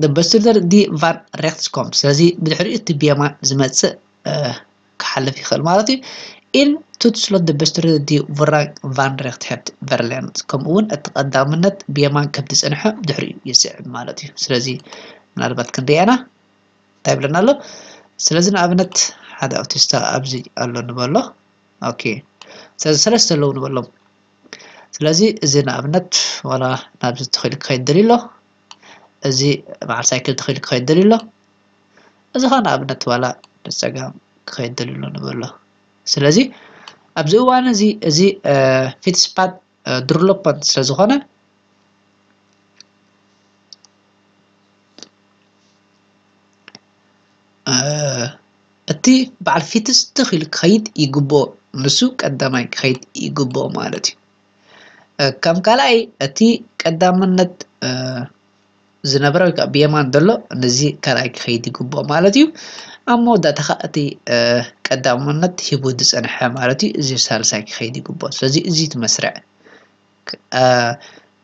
ደ በስትርደር ዲ ቫን ሬክትስኮም ስለዚ ብድሕሪኡ እቲ ብየማን ዝመፅእ ክሓልፍ ይኽእል ማለት እዩ። ኢን ቱትስሎት ደ በስትርደር ዲ ቮራን ቫን ሬክት ሄብት ቨርሌንት ከምኡ እውን እቲ ቀዳምነት ብየማን ከም ዝፀንሐ ብድሕሪኡ ይስዕብ ማለት እዩ። ስለዚ ምናልባት ክንሪኣና እንታይ ይብለና ኣሎ? ስለዚ ንኣብነት ሓደ ኣውቲስታ ኣብዚ ኣሎ ንበሎ። ኦኬ ስለዚ ሰለስተ ኣለዉ ንበሎም። ስለዚ እዚ ንኣብነት ዋላ ናብዚ ተኺሉ ክኸይድ ደልዩ ኣሎ። እዚ በዓል ሳይክል ተኺሉ ክኸይድ ደልዩ ኣሎ። እዚ ኸ ንኣብነት ዋላ ንፀጋም ክኸይድ ደልዩ ኣሎ ንበሎ። ስለዚ ኣብዚ እዋን እዚ እዚ ፊትስፓት ድርሎፓንት ስለ ዝኾነ እቲ በዓል ፊትስ ትኽ ኢሉ ክኸይድ ይግብኦ። ንሱ ቀዳማይ ክኸይድ ይግብኦ ማለት እዩ። ከም ካልኣይ እቲ ቀዳምነት ዝነበረ ወይ ከዓ ብየማን ዘሎ ነዚ ካልኣይ ክኸይድ ይግብኦ ማለት እዩ። ኣብ መወዳእታ ከዓ እቲ ቀዳምነት ሂቡ ዝፀንሐ ማለት እዩ፣ እዚ ሳልሳይ ክኸይድ ይግብኦ። ስለዚ እዚ እቲ መስርዕ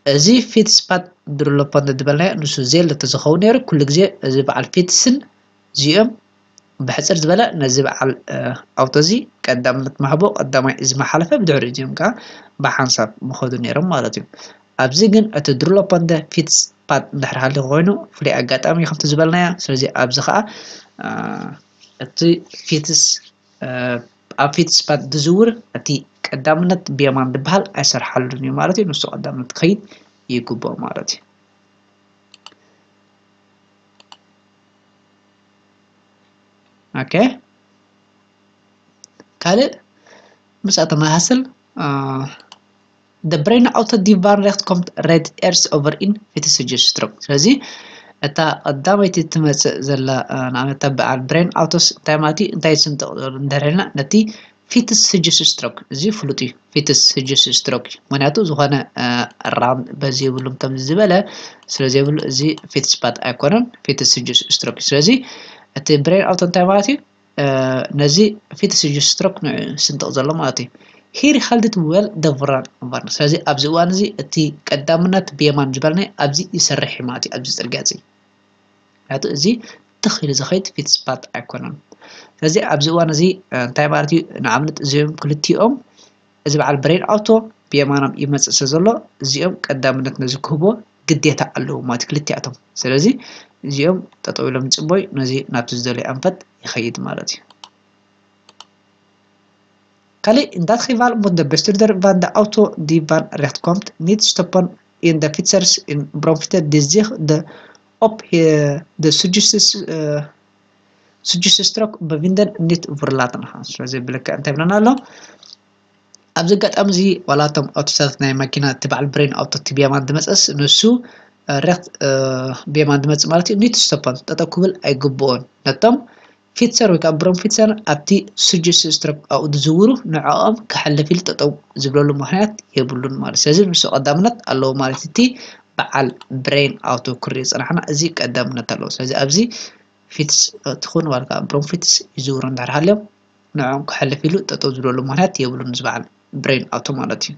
እዚ ፊትስ ፓት ድሩሎፖንደ ዝበልናዮ ንሱ ዜሎ ተዝኸውን ነይሩ፣ ኩሉ ግዜ እዚ በዓል ፊትስን እዚኦም ብሕፅር ዝበለ ነዚ በዓል ኣውቶ እዚ ቀዳምነት ምሃቦ ቀዳማይ እዚ መሓለፈ፣ ብድሕሪ እዚኦም ከዓ ብሓንሳብ ምኸዱ ነይሮም ማለት እዩ። ኣብዚ ግን እቲ ድሩሎፖንደ ፊትስ ፓት እንድሕር ሃልዩ ኮይኑ ፍሉይ ኣጋጣሚ ከምቲ ዝበልናዮ። ስለዚ ኣብዚ ከዓ እቲ ፊትስ ኣብ ፊትስ ፓት ዝዝውር እቲ ቀዳምነት ብየማን ዝበሃል ኣይሰርሓሉን እዩ ማለት እዩ። ንሱ ቀዳምነት ክኸይድ ይግብኦ ማለት እዩ። ኦኬ፣ ካልእ ምስኣ ተመሳስል the brain auto die van recht komt red eerst over in fietsenstreek። ስለዚ እታ ቀዳመይቲ ትመፅእ ዘላ ንኣብነት በዓል ብሬን ኣውቶስ እንታይ ማለት እዩ? እንታይ ስንጥቕ እንድሕር ኢልና ነቲ ፊትስ ስጅስ ስትሮክ፣ እዚ ፍሉጥ እዩ። ፊትስ ስጅስ ስትሮክ እዩ፣ ምክንያቱ ዝኾነ ራም በዚ የብሉን ከምዚ ዝበለ ስለ ዘይብሉ እዚ ፊትስ ፓት ኣይኮነን፣ ፊትስ ስጅስ ስትሮክ እዩ። ስለዚ እቲ ብሬን ኣውቶ እንታይ ማለት እዩ? ነዚ ፊትስ ስጅስ ስትሮክ ንዑ ስንጥቕ ዘሎ ማለት እዩ። ሂር ሃልድት ዌል ደቭራን ቫርን። ስለዚ ኣብዚ እዋን እዚ እቲ ቀዳምነት ብየማን ዝበልናይ ኣብዚ ይሰርሕ እዩ ማለት እዩ፣ ኣብዚ ፅርግያ እዚ። ምክንያቱ እዚ ትኽ ኢሉ ዝኸይድ ፊትስ ፓት ኣይኮነን። ስለዚ ኣብዚ እዋን እዚ እንታይ ማለት እዩ? ንኣብነት እዚኦም ክልቲኦም እዚ በዓል ብሬን ኣውቶ ብየማኖም ይመፅእ ስለ ዘሎ እዚኦም ቀዳምነት ነዚ ክህቦ ግዴታ ኣለዎ ማለት ክልቲኣቶም። ስለዚ እዚኦም ጠጠው ኢሎም ይፅበዩ፣ ነዚ ናብቲ ዝደልዮ ኣንፈት ይኸይድ ማለት እዩ። ካልእ in dat geval moet de bestuurder van de auto die van recht komt niet stoppen in de fietsers in bromfietser die zich de op de suggesties suggesties trok bevinden niet verlaten gaan. ስለዚ ብልክዕ እንታይ ብለና ኣሎ? ኣብዚ ኣጋጣሚ እዚ ዋላ እቶም ኣውቶታት ናይ መኪና እቲ በዓል ብሬን ኣውቶ እቲ ብየማን ዝመፀስ ንሱ ሬክት ብየማን ዝመፅእ ማለት እዩ። ኒት ስቶፖን ጠጠው ክብል ኣይግብኦን። ነቶም ፊትሰር ወይ ከዓ ብሮም ፊትሰር ኣብቲ ስጅስ ስትሮክ ኣብኡ ዝዝውሩ ንዕኦም ክሓልፍ ኢሉ ጠጠው ዝብለሉ ምክንያት የብሉን ማለት። ስለዚ ንሱ ቀዳምነት ኣለዎ ማለት እቲ በዓል ብሬን ኣውቶ ክሪኦ ዝፀናሕና እዚ ቀዳምነት ኣለዎ። ስለዚ ኣብዚ ፊትስ ትኹን ዋልካ ብሮም ፊትስ ይዝውሩ እንድሕር ሃልዮም ንዕኦም ክሓልፍ ኢሉ ጠጠው ዝብለሉ ምክንያት የብሉን እዚ በዓል ብሬን ኣውቶ ማለት እዩ።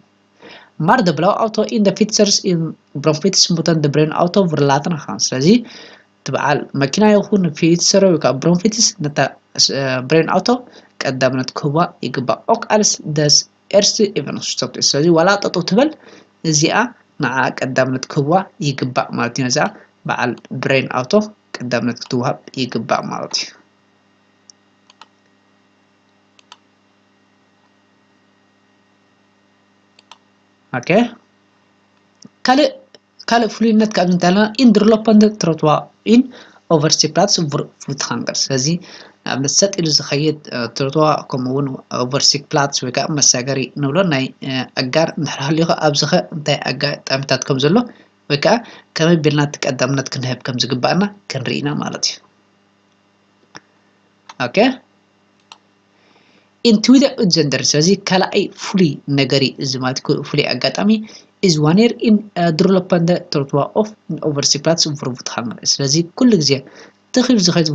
Maar de blauwe auto in de fietsers in bromfiets moeten de bruine auto verlaten gaan. ስለዚ እቲ በዓል መኪና ይኹን ፊትሰር ወይ ከዓ ብሮንፊትስ ነታ ብሬን ኣውቶ ቀዳምነት ክህባ ይግባእ። ኦክ ኣልስ ደስ ኤርስ ኢቨን ስቶፕ። ስለዚ ዋላ ጠጠው ትበል እዚኣ ንዓ ቀዳምነት ክህባ ይግባእ ማለት እዩ። ነዛ በዓል ብሬን ኣውቶ ቀዳምነት ክትወሃብ ይግባእ ማለት እዩ። ኦኬ፣ ካልእ ካልእ ፍሉይነት ካብ እንተለና ኢንድርሎፐንደ ትሮትዋ ኢን ኦቨርሲፕላትስ ፉትሃንገር። ስለዚ ንኣብነት ሰጥ ኢሉ ዝኸይድ ትሮትዋ ከምኡ እውን ኦቨርሲፕላትስ ወይ ከዓ መሳገሪ ንብሎ ናይ ኣጋር እንድሕር ሃልዩኸ ኣብዚኸ እንታይ ኣጋጣሚታት ከም ዘሎ ወይ ከዓ ከመይ ቢልና እቲ ቀዳምነት ክንህብ ከም ዝግባእና ክንርኢ ኢና ማለት እዩ። ኦኬ፣ ኢንትዊደ ኡትዘንደር። ስለዚ ካልኣይ ፍሉይ ነገር እዩ እዚ ማለት ፍሉይ ኣጋጣሚ ኢዝ ዋኔር ኢን ድሩለፓንደ ትሮትዋ ኦፍ ኦቨርሲፕላትስ ፉትሃንገር። ስለዚ ኩሉ ግዜ ትኺል ዝኸይድ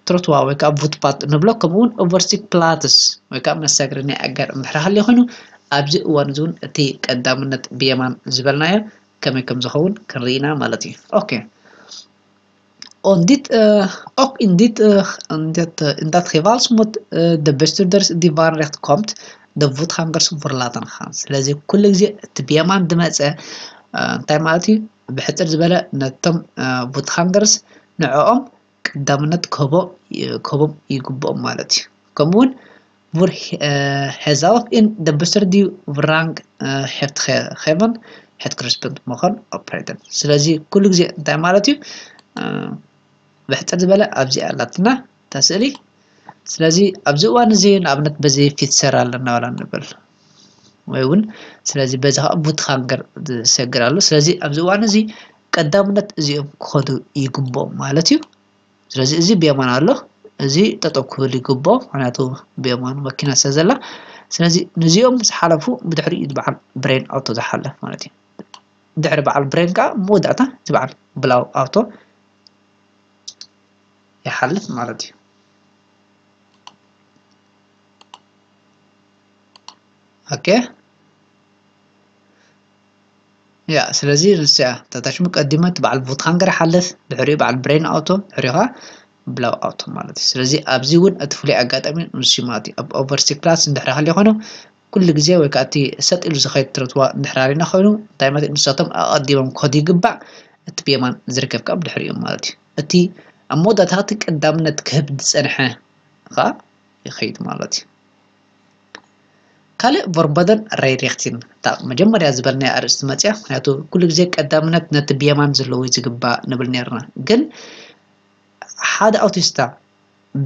ትሮትዋ ወይ ከዓ ፉትፓት ንብሎ ከምኡ እውን ኦቨርሲፕላትስ ወይ ከዓ መሳገሪ ናይ ኣጋር እንድሕር ሃልዩ ኮይኑ ኣብዚ እዋን እዚ እውን እቲ ቀዳምነት ብየማን ዝበልናዮ ከመይ ከም ዝኸውን ክንርኢ ኢና ማለት እዩ። ኦኬ። On dit, uh, ook in dit, uh, in dat, uh, in dat geval moet uh, de bestuurders die van recht komt, de voetgangers verlaten gaan. ስለዚ ኩሉ ግዜ እቲ ብየማን ዝመፀ እንታይ ማለት እዩ? ብሕፅር ዝበለ ነቶም ፉትሃንገርስ ንዕኦም ቀዳምነት ክህቦ ክህቦም ይግብኦም ማለት እዩ። ከምኡ እውን ቡር ሄዛውፍ ኢን ደብስተር ዲዩ ቭራንግ ሄፍት ኸቨን ሄት ክሪስፕንት መኾን ኦፕሬተን። ስለዚ ኩሉ ግዜ እንታይ ማለት እዩ? ብሕፅር ዝበለ ኣብዚ ኣላትና እታ ስእሊ። ስለዚ ኣብዚ እዋን እዚ ንኣብነት በዚ ፊትሰር ኣለና ዋላ ንብል ወይ እውን ስለዚ በዚ ከዓ ቡትሃንገር ዝሰግር ኣሎ። ስለዚ ኣብዚ እዋን እዚ ቀዳምነት እዚኦም ክኸዱ ይግብኦም ማለት እዩ። ስለዚ እዚ ብየማን ኣሎ፣ እዚ ጠጠው ክብል ይግብኦ፣ ምክንያቱ ብየማኑ መኪና ስለ ዘላ። ስለዚ ነዚኦም ምስ ሓለፉ ብድሕሪኡ ዝበዓል ብሬን ኣውቶ ዝሓልፍ ማለት እዩ። ድሕሪ በዓል ብሬን ከዓ መወዳእታ ዝበዓል ብላው ኣውቶ ይሓልፍ ማለት እዩ። ኦኬ ያ ስለዚ ንስያ ታታሽሙ ቀዲመ እቲ በዓል ቡትሃንገር ሓልፍ ድሕሪኡ በዓል ብሬን ኣውቶ ድሕሪኡ ከዓ ብላው ኣውቶ ማለት እዩ። ስለዚ ኣብዚ እውን እቲ ፍሉይ ኣጋጣሚ ንሱ ማለት እዩ። ኣብ ኦቨርሲ ክላስ እንድሕር ሃልዩ ኮይኑ ኩሉ ግዜ ወይ ከዓ እቲ ሰጥ ኢሉ ዝኸይድ ትረትዋ እንድሕር ሃሊና ኮይኑ እንታይ ማለት ንሳቶም ኣቐዲሞም ክኸዱ ይግባዕ። እቲ ብየማን ዝርከብ ከዓ ብድሕሪኡ ማለት እዩ። እቲ ኣብ መወዳእታ እቲ ቀዳምነት ክህብ ዝፀንሐ ከዓ ይኸይድ ማለት እዩ። ካልእ ቨርቦደን ራይሪክቲን እታ መጀመርያ ዝበልናያ ኣርእስቲ መፅያ። ምክንያቱ ኩሉ ግዜ ቀዳምነት ነቲ ብየማን ዘለዎ እዩ ዝግባእ ንብል ነርና። ግን ሓደ ኣውቲስታ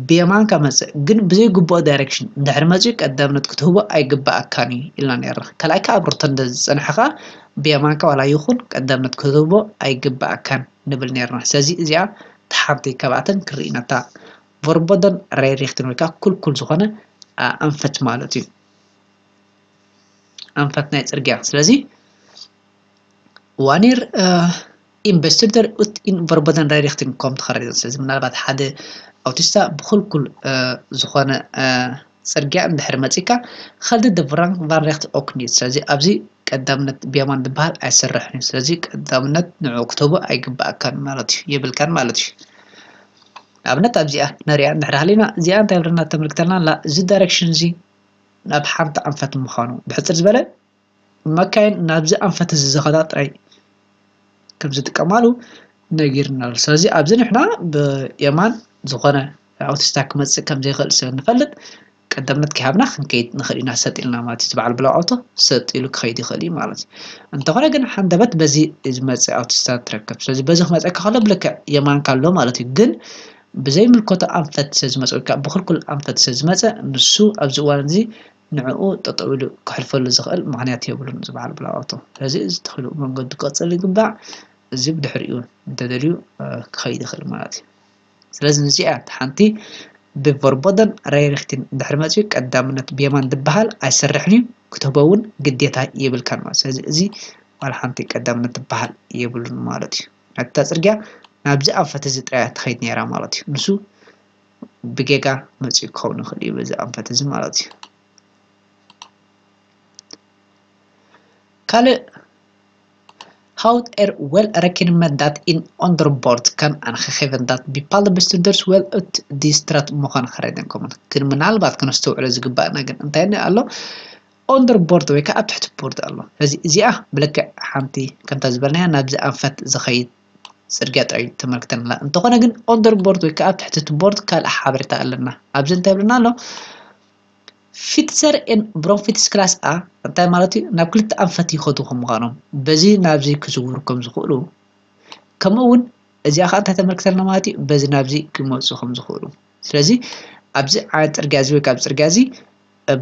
ብየማንካ መፅእ ግን ብዘይግቡእ ዳይሬክሽን እንድሕር መፅኡ ቀዳምነት ክትህቦ ኣይግባኣካን እዩ ኢልና ነርና። ካልኣይ ከዓ ኣብ ሩተንደ ዝፀንሐ ከዓ ብየማንካ ዋላ ይኹን ቀዳምነት ክትህቦ ኣይግባኣካን ንብል ነርና። ስለዚ እዚኣ ተሓንቲ ካብኣተን ክርኢና እታ ቨርቦደን ራይሪክቲን ወይ ከዓ ኩልኩል ዝኾነ ኣንፈት ማለት እዩ። ኣንፈት ናይ ፅርግያ ስለዚ ዋኒር ኢንቨስቲደር ኡት ኢን ቨርቦደን ራይሪክቲን ኮም ተኸረጀን ስለዚ ምናልባት ሓደ ኣውቲስታ ብኩልኩል ዝኾነ ፅርግያ እንድሕር መፂካ ኸልዲ ደብራን ቫንሬክት ኦክኒት ስለዚ ኣብዚ ቀዳምነት ብየማን ዝበሃል ኣይሰርሕን እዩ። ስለዚ ቀዳምነት ንዑ ክትህቦ ኣይግባኣካን ማለት እዩ የብልካን ማለት እዩ። ንኣብነት ኣብዚኣ ነሪኣ እንድሕር ሃሊና እዚኣ እንታይ ብለና ተመልክተልና ኣላ እዚ ዳይሬክሽን እዚ ናብ ሓንቲ ኣንፈት ምዃኑ ብሕፅር ዝበለ መካይን ናብዚ ኣንፈት እዚ ዝኸዳ ጥራይ ከም ዝጥቀማሉ ነጊርና ኣሎ። ስለዚ ኣብዚ ንሕና ብየማን ዝኾነ ኣውቲስታ ክመፅእ ከም ዘይኽእል ስለ ንፈልጥ ቀዳምነት ከይሃብና ክንከይድ ንኽእል ኢና ሰጥ ኢልና ማለት እዩ። ዝበዓል ብላው ኣውቶ ሰጥ ኢሉ ክኸይድ ይኽእል እዩ ማለት እዩ። እንተኾነ ግን ሓንደበት በዚ ዝመፅእ ኣውቲስታ ትረከብ። ስለዚ በዚ ክመፀካ ከሎ ብልክዕ የማንካ ኣሎ ማለት እዩ። ግን ብዘይምልከቶ ኣንፈት ስለ ዝመፀ ወይ ከዓ ብክልኩል ኣንፈት ስለ ዝመፀ ንሱ ኣብዚ እዋን እዚ ንዕኡ ጠጠው ኢሉ ክሕልፈሉ ዝኽእል ምኽንያት የብሉን ዝበዓል ብላው ኣውቶ። ስለዚ እዚ ተኽእሎ መንገዱ ክቐፅል ይግባዕ። እዚ ብድሕሪኡ እንተደልዩ ክኸይድ ይኽእል ማለት እዩ። ስለዚ ንዚኣ ሓንቲ ብቨርቦደን ራይሪክቲን እንድሕር መፅኡ ቀዳምነት ብየማን ዝበሃል ኣይሰርሕን እዩ ክትህቦ እውን ግዴታ የብልካን ማለት ስለዚ እዚ ዋላ ሓንቲ ቀዳምነት ዝበሃል የብሉን ማለት እዩ። ናታ ፅርግያ ናብዚ ኣንፈት እዚ ጥራያ ትኸይድ ነይራ ማለት እዩ። ንሱ ብጌጋ መፅኡ ክኸውን ይኽእል እዩ በዚ ኣንፈት እዚ ማለት እዩ። ካልእ Houdt er wel rekening met dat een onderbord kan aangegeven dat bepaalde bestuurders wel uit die straat mogen rijden komen. ግን ምናልባት ከነስተውዕሎ ዝግባእ ነገር እንታይ ኣሎ? ኦንደርቦርድ ወይ ከዓ ኣብ ትሕቲ ቦርድ ኣሎ። ስለዚ እዚኣ ብልክዕ ሓንቲ ከምታ ዝበልናያ ናብዚ ኣንፈት ዝኸይድ ፅርግያ ጥራይ ተመልክተና ኣላ። እንተኾነ ግን ኦንደርቦርድ ወይ ከዓ ኣብ ትሕቲ እቲ ቦርድ ካልእ ሓበሬታ ኣለና። ኣብዚ እንታይ ይብለና ኣሎ? Fietser en bromfiets klas A እንታይ ማለት እዩ? ናብ ክልተ ኣንፈት ይኸዱ ከም ምዃኖም በዚ ናብዚ ክዝውሩ ከም ዝኽእሉ ከምኡ እውን እዚኣ ከዓ እንታይ ተመልክተልና ማለት እዩ? በዚ ናብዚ ክመፁ ከም ዝኽእሉ ስለዚ ኣብዚ ዓይነት ፅርግያ እዚ ወይ ከዓ ኣብ ፅርግያ እዚ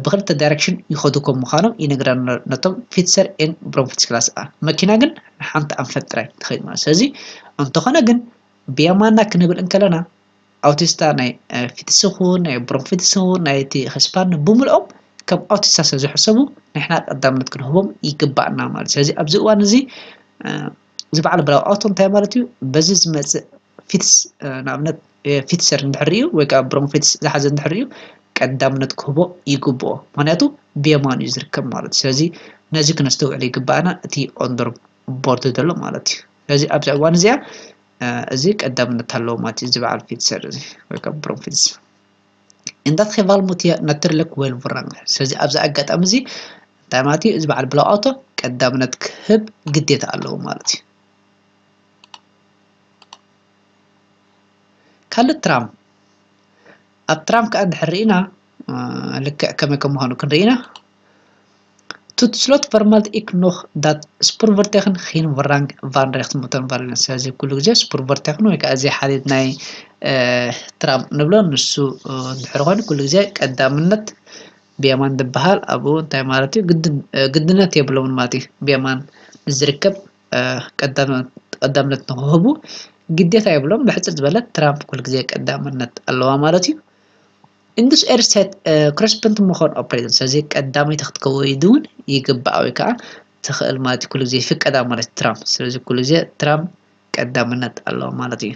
ብክልተ ዳይሬክሽን ይኸዱ ከም ምዃኖም ይነግረና ነቶም ፊትሰር ኤን ብሮንፊትስ ክላስ A። መኪና ግን ንሓንቲ ኣንፈት ጥራይ ትኸይድ ማለት ስለዚ እንተኾነ ግን ብየማና ክንብል እንከለና ኣውቲስታ ናይ ፊትስ ይኹን ናይ ብሮንፊትስ ይኹን ናይቲ ህስፓን ብምልኦም ከም ኣውቲስታ ስለ ዝሕሰቡ ንሕና ቀዳምነት ክንህቦም ይግባእና ማለት ስለዚ ኣብዚ እዋን እዚ ዝበዓል ብላው ኣውቶ እንታይ ማለት እዩ በዚ ዝመፅእ ፊትስ ንኣብነት ፊትሰር እንድሕር እዩ ወይ ከዓ ብሮንፊትስ ዝሓዘ እንድሕር እዩ ቀዳምነት ክህቦ ይግብኦ ምክንያቱ ብየማኑ እዩ ዝርከብ ማለት እዩ ስለዚ ነዚ ክነስተውዕል ይግባእና እቲ ኦንደር ቦርድ ዘሎ ማለት እዩ ስለዚ ኣብዚ እዋን እዚኣ እዚ ቀዳምነት ኣለዎ ማለት እዩ ዝበዓል ፊትሰር እዚ ወይ ከዓ ብሮንፊትስ እንዳት ኸባል ሙትያ ነትርልክ ወይል ቡራን ስለዚ ኣብዚ ኣጋጣሚ እዚ እንታይ ማለት እዩ እዚ በዓል ብላው ኣውቶ ቀዳምነት ክህብ ግዴታ ኣለዎ ማለት እዩ ካልእ ትራም ኣብ ትራም ከዓ እንድሕር ርኢና ልክዕ ከመይ ከም ምዃኑ ክንርኢና ቱት ስሎት ቨርማልት ኢክ ኖክ ዳት ስፑርቨርቴክን ኺን ቨራንግ ቫንሬክት ሙተን ቫለንስ ስለዚ ኩሉ ግዜ ስፑርቨርቴክን ወይ ከዓ እዚ ሓሊት ናይ ትራም ንብሎ ንሱ እንድሕር ኮይኑ ኩሉ ግዜ ቀዳምነት ብየማን ዝበሃል ኣብኡ እንታይ ማለት እዩ ግድነት የብሎምን ማለት እዩ ብየማን ንዝርከብ ቀዳምነት ንክህቡ ግዴታ የብሎም ብሕፅር ዝበለ ትራምፕ ኩሉ ግዜ ቀዳምነት ኣለዋ ማለት እዩ In this air set correspond ምኾን ኦፕሬተር። ስለዚ ቀዳመይቲ ክትከውን እውን ይግባእ ወይ ከዓ ትኽእል ማለት እዩ። ኩሉ ግዜ ይፍቀዳ ማለት ትራም። ስለዚ ኩሉ ግዜ ትራም ቀዳምነት ኣለዎ ማለት እዩ።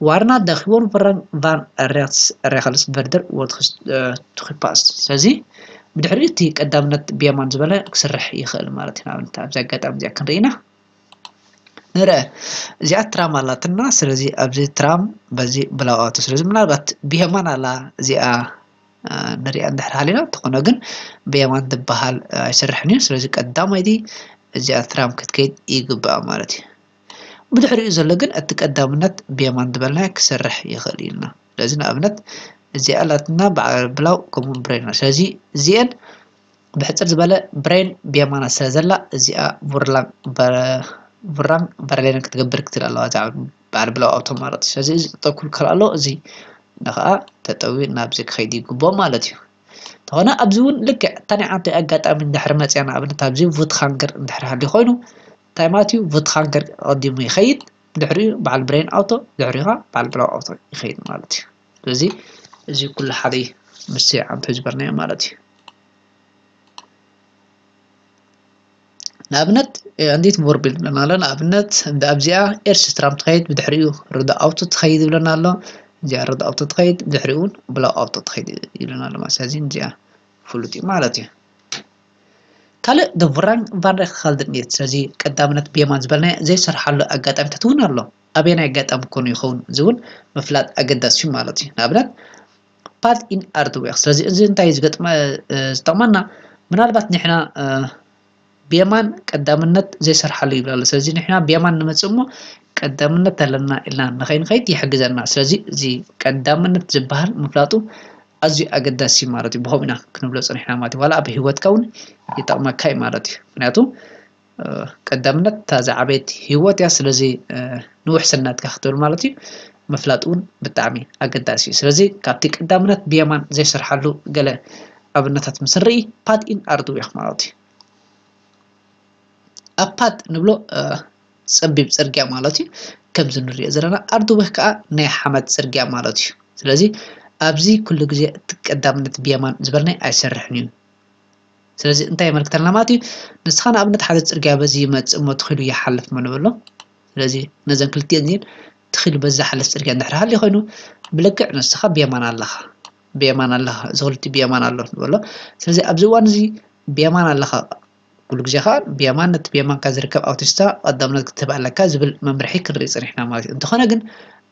Waarna de gewoonverrang van rechts regels verder wordt toegepast። ስለዚ ብድሕሪኡ እቲ ቀዳምነት ብየማን ዝበለ ክስርሕ ይኽእል ማለት እዩ። ንኣብነት ኣብዚ ኣጋጣሚ እዚኣ ክንርኢ ኢና። ንርአ፣ እዚኣ ትራም ኣላትና። ስለዚ ኣብዚ ትራም በዚ ብላው ኣውቶ። ስለዚ ምናልባት ብየማን ኣላ እዚኣ ንሪኣ እንድሕር ሃሊና፣ እንተኾነ ግን ብየማን ዝበሃል ኣይሰርሕን እዩ። ስለዚ ቀዳማይቲ እዚኣ ትራም ክትከይድ ይግባእ ማለት እዩ። ብድሕሪኡ ዘሎ ግን እቲ ቀዳምነት ብየማን ዝበልናዮ ክሰርሕ ይኽእል ኢልና። ስለዚ ንኣብነት እዚኣ ኣላትና በዓል ብላው ከምኡ ብሬን። ስለዚ እዚአን ብሕፅር ዝበለ ብሬን ብየማና ስለ ዘላ እዚኣ ቡራንግ በርሌን ክትገብር ክትል ኣለዋ እዛ በዓል ብላው ኣውቶ ማለት እዩ። ስለዚ እዚ ጠጠው ክብል ከሎ እዚ ንኸዓ ተጠዊ ናብዚ ክኸይድ ይግብኦ ማለት እዩ። እንተኾነ ኣብዚ እውን ልክዕ እታ ናይ ዓንተ ኣጋጣሚ እንድሕር መፅያ ንኣብነት ኣብዚ ቡትኻንገር እንድሕር ሃልዩ ኮይኑ እንታይ ማለት እዩ? ቡትኻንገር ቀዲሙ ይኸይድ፣ ድሕሪኡ በዓል ብሬን ኣውቶ፣ ድሕሪኡ ከዓ በዓል ብላው ኣውቶ ይኸይድ ማለት እዩ። ስለዚ እዚ ኩሉ ሓደ እዩ ምስ ዓንተ ዝበልናዮ ማለት እዩ። ንኣብነት እንዴት ቮርቢል ብለና ኣሎ። ንኣብነት ኣብዚኣ ኤርስ ትራም ትኸይድ ብድሕሪኡ ርዶ ኣውቶ ትኸይድ ብለና ኣሎ። እዚኣ ርዶ ኣውቶ ትኸይድ ብድሕሪኡ እውን ብላው ኣውቶ ትኸይድ ይብለና ኣሎ ማለት ስለዚ እዚኣ ፍሉጥ እዩ ማለት እዩ። ካልእ ደ ቡራንግ ቫንሬክ ካልድን እየ። ስለዚ ቀዳምነት ብየማን ዝበልናዮ ዘይሰርሓሉ ኣጋጣሚታት እውን ኣሎ። ኣበየናይ ኣጋጣሚ ኮኑ ይኸውን እዚ እውን ምፍላጥ ኣገዳሲ እዩ ማለት እዩ። ንኣብነት ፓት ኢን ኣርትዌክ። ስለዚ እዚ እንታይ ዝጠቕመና? ምናልባት ንሕና ብየማን ቀዳምነት ዘይሰርሓሉ ይብል ኣሎ። ስለዚ ንሕና ብየማን ንመፅእ እሞ ቀዳምነት ኣለና ኢልና ንኸይንኸይድ ይሕግዘና። ስለዚ እዚ ቀዳምነት ዝበሃል ምፍላጡ ኣዝዩ ኣገዳሲ ማለት እዩ። ብኸምኡ ኢና ክንብሎ ፀኒሕና ማለት እዩ። ዋላ ኣብ ህይወትካ እውን ይጠቕመካ እዩ ማለት እዩ። ምክንያቱ ቀዳምነት እታ ዝዓበየት ህይወት እያ። ስለዚ ንውሕስነትካ ክትብል ማለት እዩ ምፍላጥ እውን ብጣዕሚ ኣገዳሲ እዩ። ስለዚ ካብቲ ቀዳምነት ብየማን ዘይሰርሓሉ ገለ ኣብነታት ምስ ንርኢ ፓት ኢን ኣርትዌክ ማለት እዩ። ኣብ ፓት ንብሎ ፀቢብ ፅርግያ ማለት እዩ። ከምዚ ንሪኦ ዘለና ኣርትዌክ ከዓ ናይ ሓመድ ፅርግያ ማለት እዩ። ስለዚ ኣብዚ ኩሉ ግዜ እቲ ቀዳምነት ብየማን ዝበልናይ ኣይሰርሕን እዩ። ስለዚ እንታይ የመልክተልና ማለት እዩ? ንስኻ ንኣብነት ሓደ ፅርግያ በዚ ይመፅእ እሞ ትኺሉ ይሓልፍ እሞ ንበሎ። ስለዚ ነዘን ክልቲኤን እዚን ትኺሉ በዚ ዝሓልፍ ፅርግያ እንድሕር ሃልዩ ኮይኑ ብልክዕ ንስኻ ብየማን ኣለኻ፣ ብየማን ኣለኻ፣ እዚ ክልቲኡ ብየማን ኣሎ ንበሎ። ስለዚ ኣብዚ እዋን እዚ ብየማን ኣለኻ ኩሉ ግዜ ከዓ ብየማን ነቲ ብየማንካ ዝርከብ ኣውቲስታ ቀዳምነት ክትህብ ኣለካ ዝብል መምርሒ ክንርኢ ፀኒሕና ማለት እዩ። እንተኾነ ግን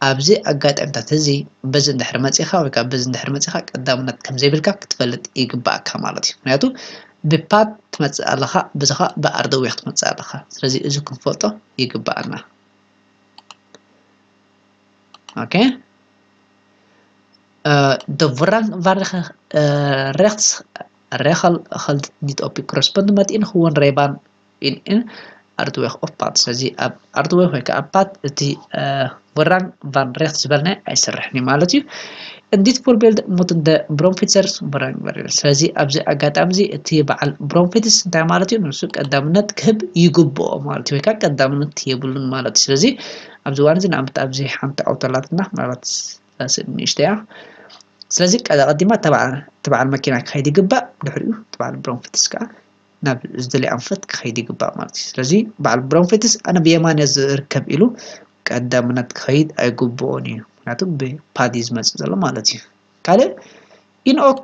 ኣብዚ ኣጋጣሚታት እዚ በዚ እንድሕር መፂኻ ወይ ከዓ በዚ እንድሕር መፂኻ ቀዳምነት ከም ዘይብልካ ክትፈልጥ ይግባኣካ ማለት እዩ። ምክንያቱ ብፓት ትመፅእ ኣለኻ፣ በዚ ከዓ ብኣርደዌክ ትመፅእ ኣለኻ። ስለዚ እዚ ክንፈልጦ ይግባኣና። ኦኬ። De voorrang van rechts regel geldt niet op corresponding met in gewoon rijbaan in in ኣርትዌክ ኦፍ ፓት። ስለዚ ኣብ ኣርትዌክ ወይ ከዓ ኣብ ፓት እቲ ቡራንግ ቫን ሬክት ዝበልናይ ኣይሰርሕን እዩ ማለት እዩ። እንዲት ፎርቤልድ ሙትን ደ ብሮንፊትሰርስ ቡራንግ ቫን ሬክት። ስለዚ ኣብዚ ኣጋጣሚ እዚ እቲ በዓል ብሮንፊትስ እንታይ ማለት እዩ? ንሱ ቀዳምነት ክህብ ይግብኦ ማለት እዩ፣ ወይ ከዓ ቀዳምነት የብሉን ማለት እዩ። ስለዚ ኣብዚ እዋን እዚ ንኣብነት ኣብዚ ሓንቲ ኣውቶ ኣላትና፣ ምናልባት እዛ ስእሊ ንእሽተይ እያ። ስለዚ ቀ-፣ ቀዲማ እታ በዓ-፣ እቲ በዓል መኪና ክኸይድ ይግባእ፣ ድሕሪኡ እቲ በዓል ብሮንፊትስ ከዓ ናብ ዝደልዮ ኣንፈት ክኸይድ ይግባእ ማለት እዩ። ስለዚ በዓል ብሮንፊትስ ኣነ ብየማን እየ ዝርከብ ኢሉ ቀዳምነት ክኸይድ ኣይግብኦን እዩ፣ ምክንያቱ ብፓድ እዩ ዝመፅእ ዘሎ ማለት እዩ። ካልእ ኢንኦክ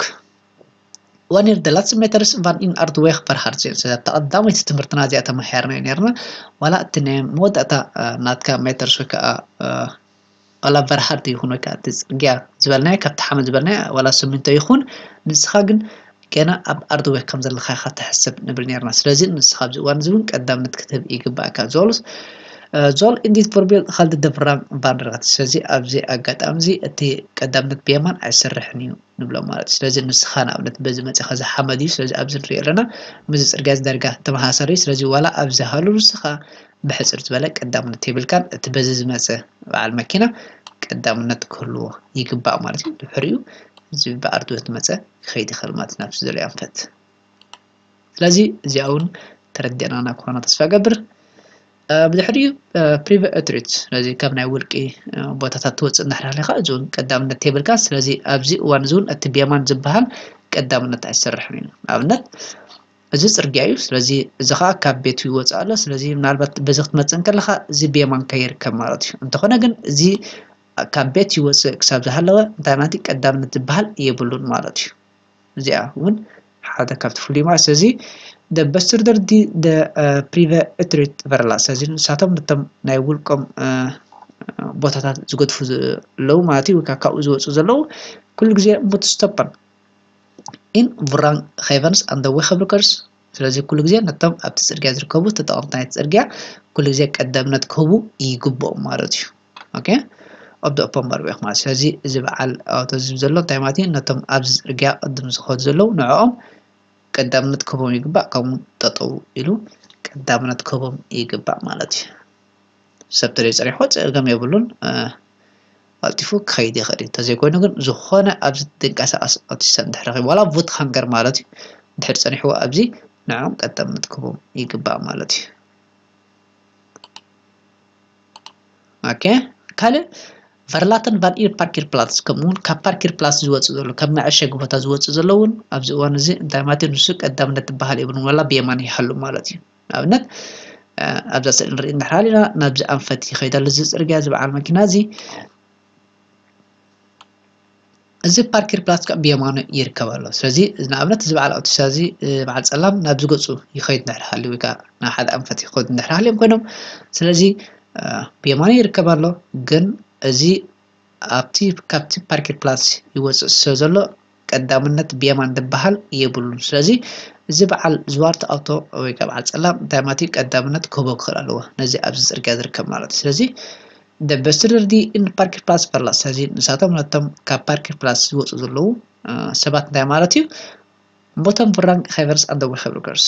ዋኒር ደ ላትስ ሜተርስ ቫን ኢን ኣርትዌክ ቨርሃርት ዜን። ስለዚ ኣብታ ቀዳመይቲ ትምህርትና እዚኣ ተመሃርና እዩ ነርና። ዋላ እቲ ናይ መወዳእታ ናትካ ሜተርስ ወይ ከዓ ዋላ ቨርሃርት ይኹን ወይ ከዓ እቲ ፅርግያ ዝበልናዮ ካብቲ ሓመድ ዝበልናዮ ዋላ ስሚንቶ ይኹን ንስኻ ግን ገና ኣብ ኣርትዌክ ከም ዘለኻ ኢኻ ትሕሰብ ንብል ነርና። ስለዚ ንስኻ ኣብዚ እዋን እዚ እውን ቀዳምነት ክትህብ ይግባእካ። ዞልስ ዞል ኢንዲት ፎርቤል ካልድ ደፍራን ቫንደርጋት። ስለዚ ኣብዚ ኣጋጣሚ እዚ እቲ ቀዳምነት ብየማን ኣይሰርሕን እዩ ንብሎ ማለት እዩ። ስለዚ ንስኻ ንኣብነት በዚ መፂኻ እዚ ሓመድ እዩ። ስለዚ ኣብዚ ንሪኦ ኣለና ምስዚ ፅርግያ እዚ ዳርጋ ተመሳሳሊ እዩ። ስለዚ ዋላ ኣብዚ ሃሉ ንስኻ ብሕፅር ዝበለ ቀዳምነት የብልካን። እቲ በዚ ዝመፀ በዓል መኪና ቀዳምነት ክህልዎ ይግባእ ማለት እዩ። ድሕሪኡ እዚ ብኣርትዌክ ዝመፀ ክኸይድ ይኽእል ማለት እዩ ናብቲ ዝደለዮ ኣንፈት። ስለዚ እዚኣ እውን ተረዲእናና ክኾና ተስፋ እገብር። ብድሕሪኡ ፕሪቨ እትሪት ስለዚ ካብ ናይ ውልቂ ቦታታት ትወፅእ እንዳሕር ሃሊኻ እዚ እውን ቀዳምነት የብልካ። ስለዚ ኣብዚ እዋን እዚ እውን እቲ ቤማን ዝበሃል ቀዳምነት ኣይሰርሕን እዩ። ንኣብነት እዚ ፅርግያ እዩ። ስለዚ እዚ ከዓ ካብ ቤቱ ይወፅእ ኣሎ። ስለዚ ምናልባት በዚ ክትመፅእ እንከለካ እዚ ቤማን ከይርከብ ማለት እዩ። እንተኾነ ግን እዚ ካብ ቤት ይወፅእ ክሳብ ዝሃለወ እንታይ ማለት እዩ ቀዳምነት ዝበሃል የብሉን ማለት እዩ። እዚኣ እውን ሓደ ካብቲ ፍሉይ ማለት ስለዚ በስትርደር ዲ ፕሪቨ እትሪት ቨርላ ስለዚ ንሳቶም ነቶም ናይ ውልቆም ቦታታት ዝገድፉ ዘለዉ ማለት እዩ። ካብኡ ዝወፁ ዘለዉ ኩሉ ግዜ ሙትስቶፐን ኢን ቡራን ኸይቨንስ ኣንደ ዌኸብርከርስ ስለዚ ኩሉ ግዜ ነቶም ኣብቲ ፅርግያ ዝርከቡ ተጠቐምቲ ናይቲ ፅርግያ ኩሉ ግዜ ቀዳምነት ክህቡ ይግብኦም ማለት እዩ። ኦኬ ኣብ ኦፖን ባርቤክ ማለት ስለዚ እዚ በዓል ኣውቶዝም ዘሎ እንታይ ማለት እዩ? ነቶም ኣብዚ ፅርግያ ቅድም ዝኸዱ ዘለዉ ንዕኦም ቀዳምነት ክህቦም ይግባእ። ከምኡ ጠጠው ኢሉ ቀዳምነት ክህቦም ይግባእ ማለት እዩ። ሰብ ተደይ ፀኒሕዎ ፀገም የብሉን። ቀልጢፉ ክኸይድ ይኽእል እዩ። እንተዘይኮይኑ ግን ዝኾነ ኣብዚ ትንቀሳቐስ ኣውቲስታ እንድሕር ረኺቡ ዋላ ቡት ሃንገር ማለት እዩ እንድሕር ፀኒሕዎ ኣብዚ ንዕኦም ቀዳምነት ክህቦም ይግባእ ማለት እዩ። ኦኬ ካልእ ቨርላተን ቫን ኢር ፓርኪር ፕላትስ ከምኡውን ካብ ፓርኪር ፕላትስ ዝወፅእ ዘሎ ካብ መዐሸጊ ቦታ ዝወፅእ ዘሎ እውን ኣብዚ እዋን እዚ እንታይ ማለት እዩ ንሱ ቀዳምነት ዝበሃል የብሉን ዋላ ብየማን ይሃሉ ማለት እዩ። ንኣብነት ኣብዛ ስእሊ ንርኢ እንድሕር ሃሊና ናብዚ ኣንፈት ይኸይድ ኣሎ እዚ ፅርግያ እዚ በዓል መኪና እዚ እዚ ፓርኪር ፕላትስ ከዓ ብየማኑ ይርከብ ኣሎ። ስለዚ ንኣብነት እዚ በዓል ኣውቲስታ እዚ በዓል ፀላም ናብዚ ገፁ ይኸይድ እንድሕር ሃልዩ ወይ ከዓ ናብ ሓደ ኣንፈት ይኸዱ እንድሕር ሃልዮም ኮይኖም ስለዚ ብየማኑ ይርከብ ኣሎ። ግን እዚ ኣብቲ ካብቲ ፓርኪር ፕላትስ ይወፅእ ስለ ዘሎ ቀዳምነት ብየማን ዝበሃል የብሉን። ስለዚ እዚ በዓል ዝዋርት ኣውቶ ወይ ከዓ በዓል ፀላም እንታይ ማለት እዩ ቀዳምነት ክህቦ ክኽእል ኣለዎ ነዚ ኣብዚ ፅርግያ ዝርከብ ማለት እዩ። ስለዚ በስትደር ዲ ኢን ፓርኪር ፕላትስ ቨርላ ስለዚ ንሳቶም ነቶም ካብ ፓርኪር ፕላትስ ዝወፁ ዘለዉ ሰባት እንታይ ማለት እዩ ቦቶም ቡራን ኸይቨርስ ኣንደ ዌኸብርከርስ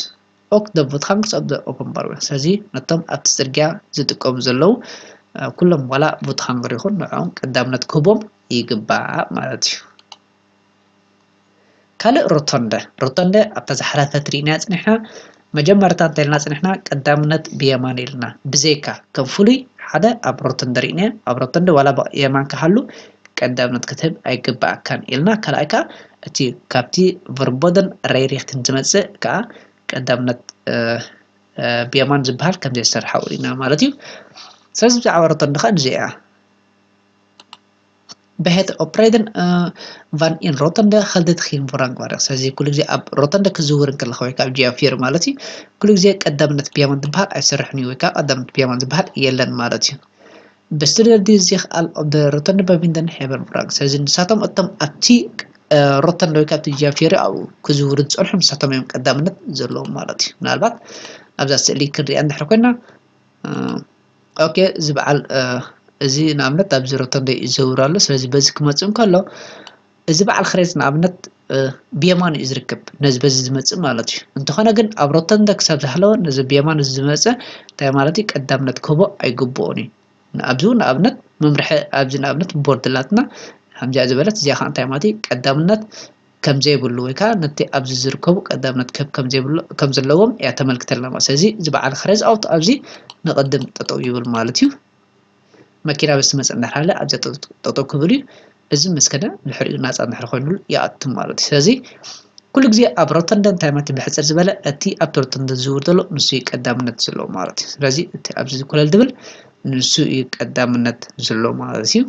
ኦክ ደ ቡትሃንግስ ኣብ ኦፖን ባርዌ ስለዚ ነቶም ኣብቲ ፅርግያ ዝጥቀሙ ዘለዉ ኩሎም ዋላ ቡትሃንግር ይኹን ንዕኦም ቀዳምነት ክህቦም ይግባእ ማለት እዩ። ካልእ ሮቶንደ ሮቶንደ ኣብታ ዝሓለፈት ርኢና ፅኒሕና መጀመርታ እንተልና ፅኒሕና ቀዳምነት ብየማን ኢልና ብዘይካ ከም ፍሉይ ሓደ ኣብ ሮቶንደ ርኢና ኣብ ሮቶንደ ዋላ የማን ክሃሉ ቀዳምነት ክትህብ ኣይግባኣካን ኢልና ካልኣይ ከዓ እቲ ካብቲ ቨርቦደን ሬይሪክትን ዝመፅእ ከዓ ቀዳምነት ብየማን ዝበሃል ከም ዘይሰርሓ ውሪና ማለት እዩ። ስለዚ ብዛዕባ ሮቶንደ ከዓ ንዚኣ ብሄት ኦፕሬድን ቫን ኢን ሮተንደ ከልደት ኺን ቮራንግ ማርያ ስለዚ ኩሉ ግዜ ኣብ ሮተንደ ክዝውር እንከለካ ወይ ከዓ ጂያ ፊር ማለት እዩ ኩሉ ግዜ ቀዳምነት ብየማን ዝበሃል ኣይሰርሕን እዩ ወይ ከዓ ቀዳምነት ብየማን ዝበሃል የለን ማለት እዩ። ብስትደር ዲ እዚ ከኣል ኦብ ሮተንደ በቪንደን ሄቨን ቮራንግ ስለዚ ንሳቶም እቶም ኣብቲ ሮተንደ ወይ ካብቲ ጂያ ፊር ኣብኡ ክዝውሩ ዝፀንሑ ንሳቶም እዮም ቀዳምነት ዘለዎም ማለት እዩ። ምናልባት ኣብዛ ስእሊ ክንሪኣ እንድሕር ኮይና ኦኬ እዚ በዓል እዚ ንኣብነት ኣብዚ ሮተንደ ይዘውር ኣሎ። ስለዚ በዚ ክመፅእ እንከሎ እዚ በዓል ክሬዝ ንኣብነት ብየማን እዩ ዝርከብ ነዚ በዚ ዝመፅእ ማለት እዩ። እንተኾነ ግን ኣብ ሮተንደ ክሳብ ዝሃለወ ነዚ ብየማን እዚ ዝመፀ እንታይ ማለት እዩ ቀዳምነት ክህቦ ኣይግብኦን እዩ። ኣብዚ ንኣብነት መምርሒ ኣብዚ ንኣብነት ቦርድ ኣላትና ከምዚኣ ዝበለት እዚኣ ከዓ እንታይ ማለት እዩ ቀዳምነት ከም ዘይብሉ ወይ ከዓ ነቲ ኣብዚ ዝርከቡ ቀዳምነት ክህብ ከም ዘይብሉ ከም ዘለዎም እያ ተመልክተልና ማለት ስለዚ እዚ በዓል ክሬዝ ኣውት ኣብዚ ንቕድም ጠጠው ይብል ማለት እዩ። መኪና በዚ ትመፅእ እንድሕር ሃለ ኣብዚኣ ጠጠው ክብል እዩ። እዚ ምስ ከደ ድሕሪኡ ናፃ እንድሕር ኮይኑሉ ይኣቱ ማለት እዩ። ስለዚ ኩሉ ግዜ ኣብ ሮተንደ እንታይ ማለት እዩ ብሕፅር ዝበለ እቲ ኣብቲ ሮተንደ ዝዝውር ዘሎ ንሱ እዩ ቀዳምነት ዘለዎ ማለት እዩ። ስለዚ እቲ ኣብዚ ኮለል ዝብል ንሱ እዩ ቀዳምነት ዘለዎ ማለት እዩ።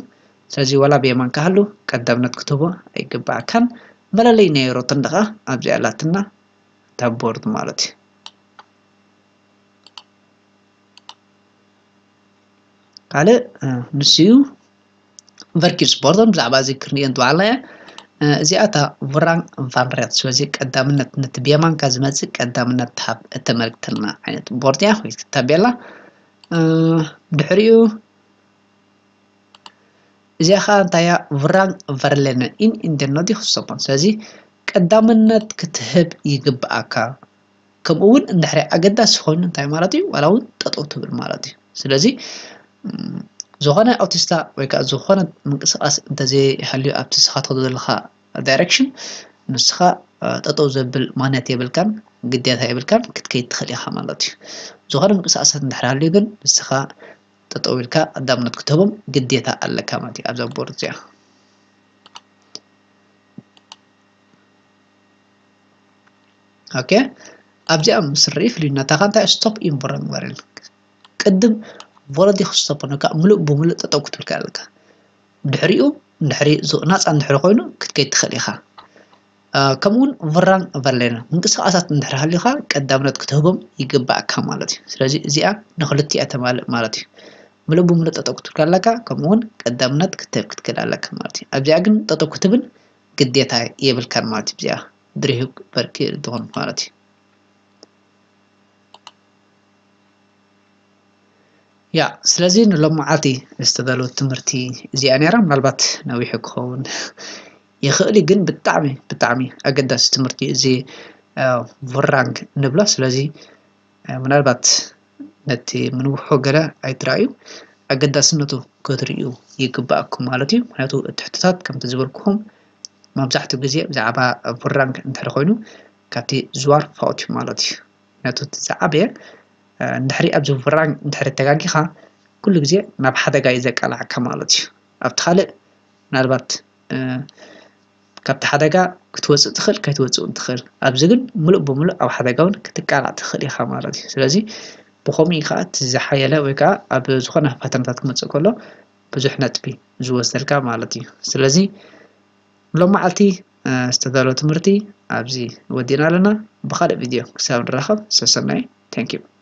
ስለዚ ዋላ ብየማን ክሃሉ ቀዳምነት ክትህቦ ኣይግባኣካን። መለለይ ናይ ሮተንደ ከዓ ኣብዚኣ ኣላትና እታ ቦርድ ማለት እዩ። ካልእ ንሱ እዩ ቨርኪር ስፖርቶም ብዛዕባ እዚ ክንሪኦ እንትበዓልና እያ። እዚኣ እታ ቡራን ቫንሬት ስለዚ ቀዳምነት ነቲ ብየማንካ ዝመፅእ ቀዳምነት ትሃብ እተመልክተልና ዓይነት ቦርድ እያ ወይ ታቤላ። ድሕሪኡ እዚኣ ከዓ እንታይ እያ ቡራን ቨርሌነ ኢን ኢንደኖዲ ክሰቦን ስለዚ ቀዳምነት ክትህብ ይግብኣካ። ከምኡ እውን እንድሕሪ ኣገዳሲ ኮይኑ እንታይ ማለት እዩ ዋላ እውን ጠጠው ትብል ማለት እዩ። ስለዚ ዝኾነ ኣውቲስታ ወይ ከዓ ዝኾነ ምንቅስቃስ እንተዘይሃልዩ ኣብቲ ንስኻ ትኸዶ ዘለኻ ዳይሬክሽን ንስኻ ጠጠው ዘብል ማነት የብልካን። ግዴታ የብልካን ክትከይድ ትኽእል ኢኻ ማለት እዩ። ዝኾነ ምንቅስቃሳት እንድሕር ሃልዩ ግን ንስኻ ጠጠው ኢልካ ቀዳምነት ክትህቦም ግዴታ ኣለካ ማለት እዩ ኣብዛ ቦርድ እዚኣ። ኦኬ ኣብዚኣ ምስ ርኢ ፍልዩነታ ከ እንታይ stop in Vurrang Varel ቅድም ቮረዲ ክስቶፕ ነካ ምሉእ ብምሉእ ጠጠው ክትብል ኣለካ። ድሕሪኡ እንድሕሪ ናፃ እንድሕሪ ኮይኑ ክትከይድ ትኽእል ኢኻ። ከምኡውን ቭራን ቨርሌን ምንቅስቃሳት እንድሕር ሃልዩካ ቀዳምነት ክትህቦም ይግባእካ ማለት እዩ። ስለዚ እዚኣ ንክልቲኣ ተማልእ ማለት እዩ። ምሉእ ብምሉእ ጠጠው ክትብል ኣለካ፣ ከምኡውን ቀዳምነት ክትህብ ክትክእል ኣለካ ማለት እዩ። ኣብዚኣ ግን ጠጠው ክትብል ግዴታ የብልካን ማለት እዩ። እዚኣ ድሪሁግ በርኪ ትኾን ማለት እዩ። ያ ስለዚ ንሎም መዓልቲ ዝተዳለወት ትምህርቲ እዚኣ ነይራ። ምናልባት ነዊሑ ክኸውን ይኽእል እዩ፣ ግን ብጣዕሚ ብጣዕሚ ኣገዳሲ ትምህርቲ እዩ እዚ ቡራንግ ንብሎ። ስለዚ ምናልባት ነቲ ምንውሖ ገለ ኣይትረኣዩ፣ ኣገዳስነቱ ክትርእዩ ይግባኣኩም ማለት እዩ። ምክንያቱ እቲ ሕቶታት ከምቲ ዝበልኩኹም መብዛሕትኡ ግዜ ብዛዕባ ቡራንግ እንድሕር ኮይኑ ካብቲ ዝዋር ፋውት እዩ ማለት እዩ። ምክንያቱ እቲ ዝዓበየ እንድሕሪ ኣብዚ ቡራንግ እንድሕሪ ተጋጊኻ ኩሉ ግዜ ናብ ሓደጋ እዩ ዘቃላዕካ ማለት እዩ። ኣብቲ ካልእ ምናልባት ካብቲ ሓደጋ ክትወፅእ ትኽእል ከይትወፅእ እውን ትኽእል። ኣብዚ ግን ሙሉእ ብሙሉእ ኣብ ሓደጋ እውን ክትቃላዕ ትኽእል ኢኻ ማለት እዩ። ስለዚ ብኸምኡ ከዓ እቲ ዝሓየለ ወይ ከዓ ኣብ ዝኾነ ፈተናታት ክመፅእ ከሎ ብዙሕ ነጥቢ ዝወስደልካ ማለት እዩ። ስለዚ ሎም መዓልቲ ዝተዳለወ ትምህርቲ ኣብዚ ወዲእና ኣለና። ብካልእ ቪድዮ ክሳብ ንራኸብ ሰሰናይ። Thank you።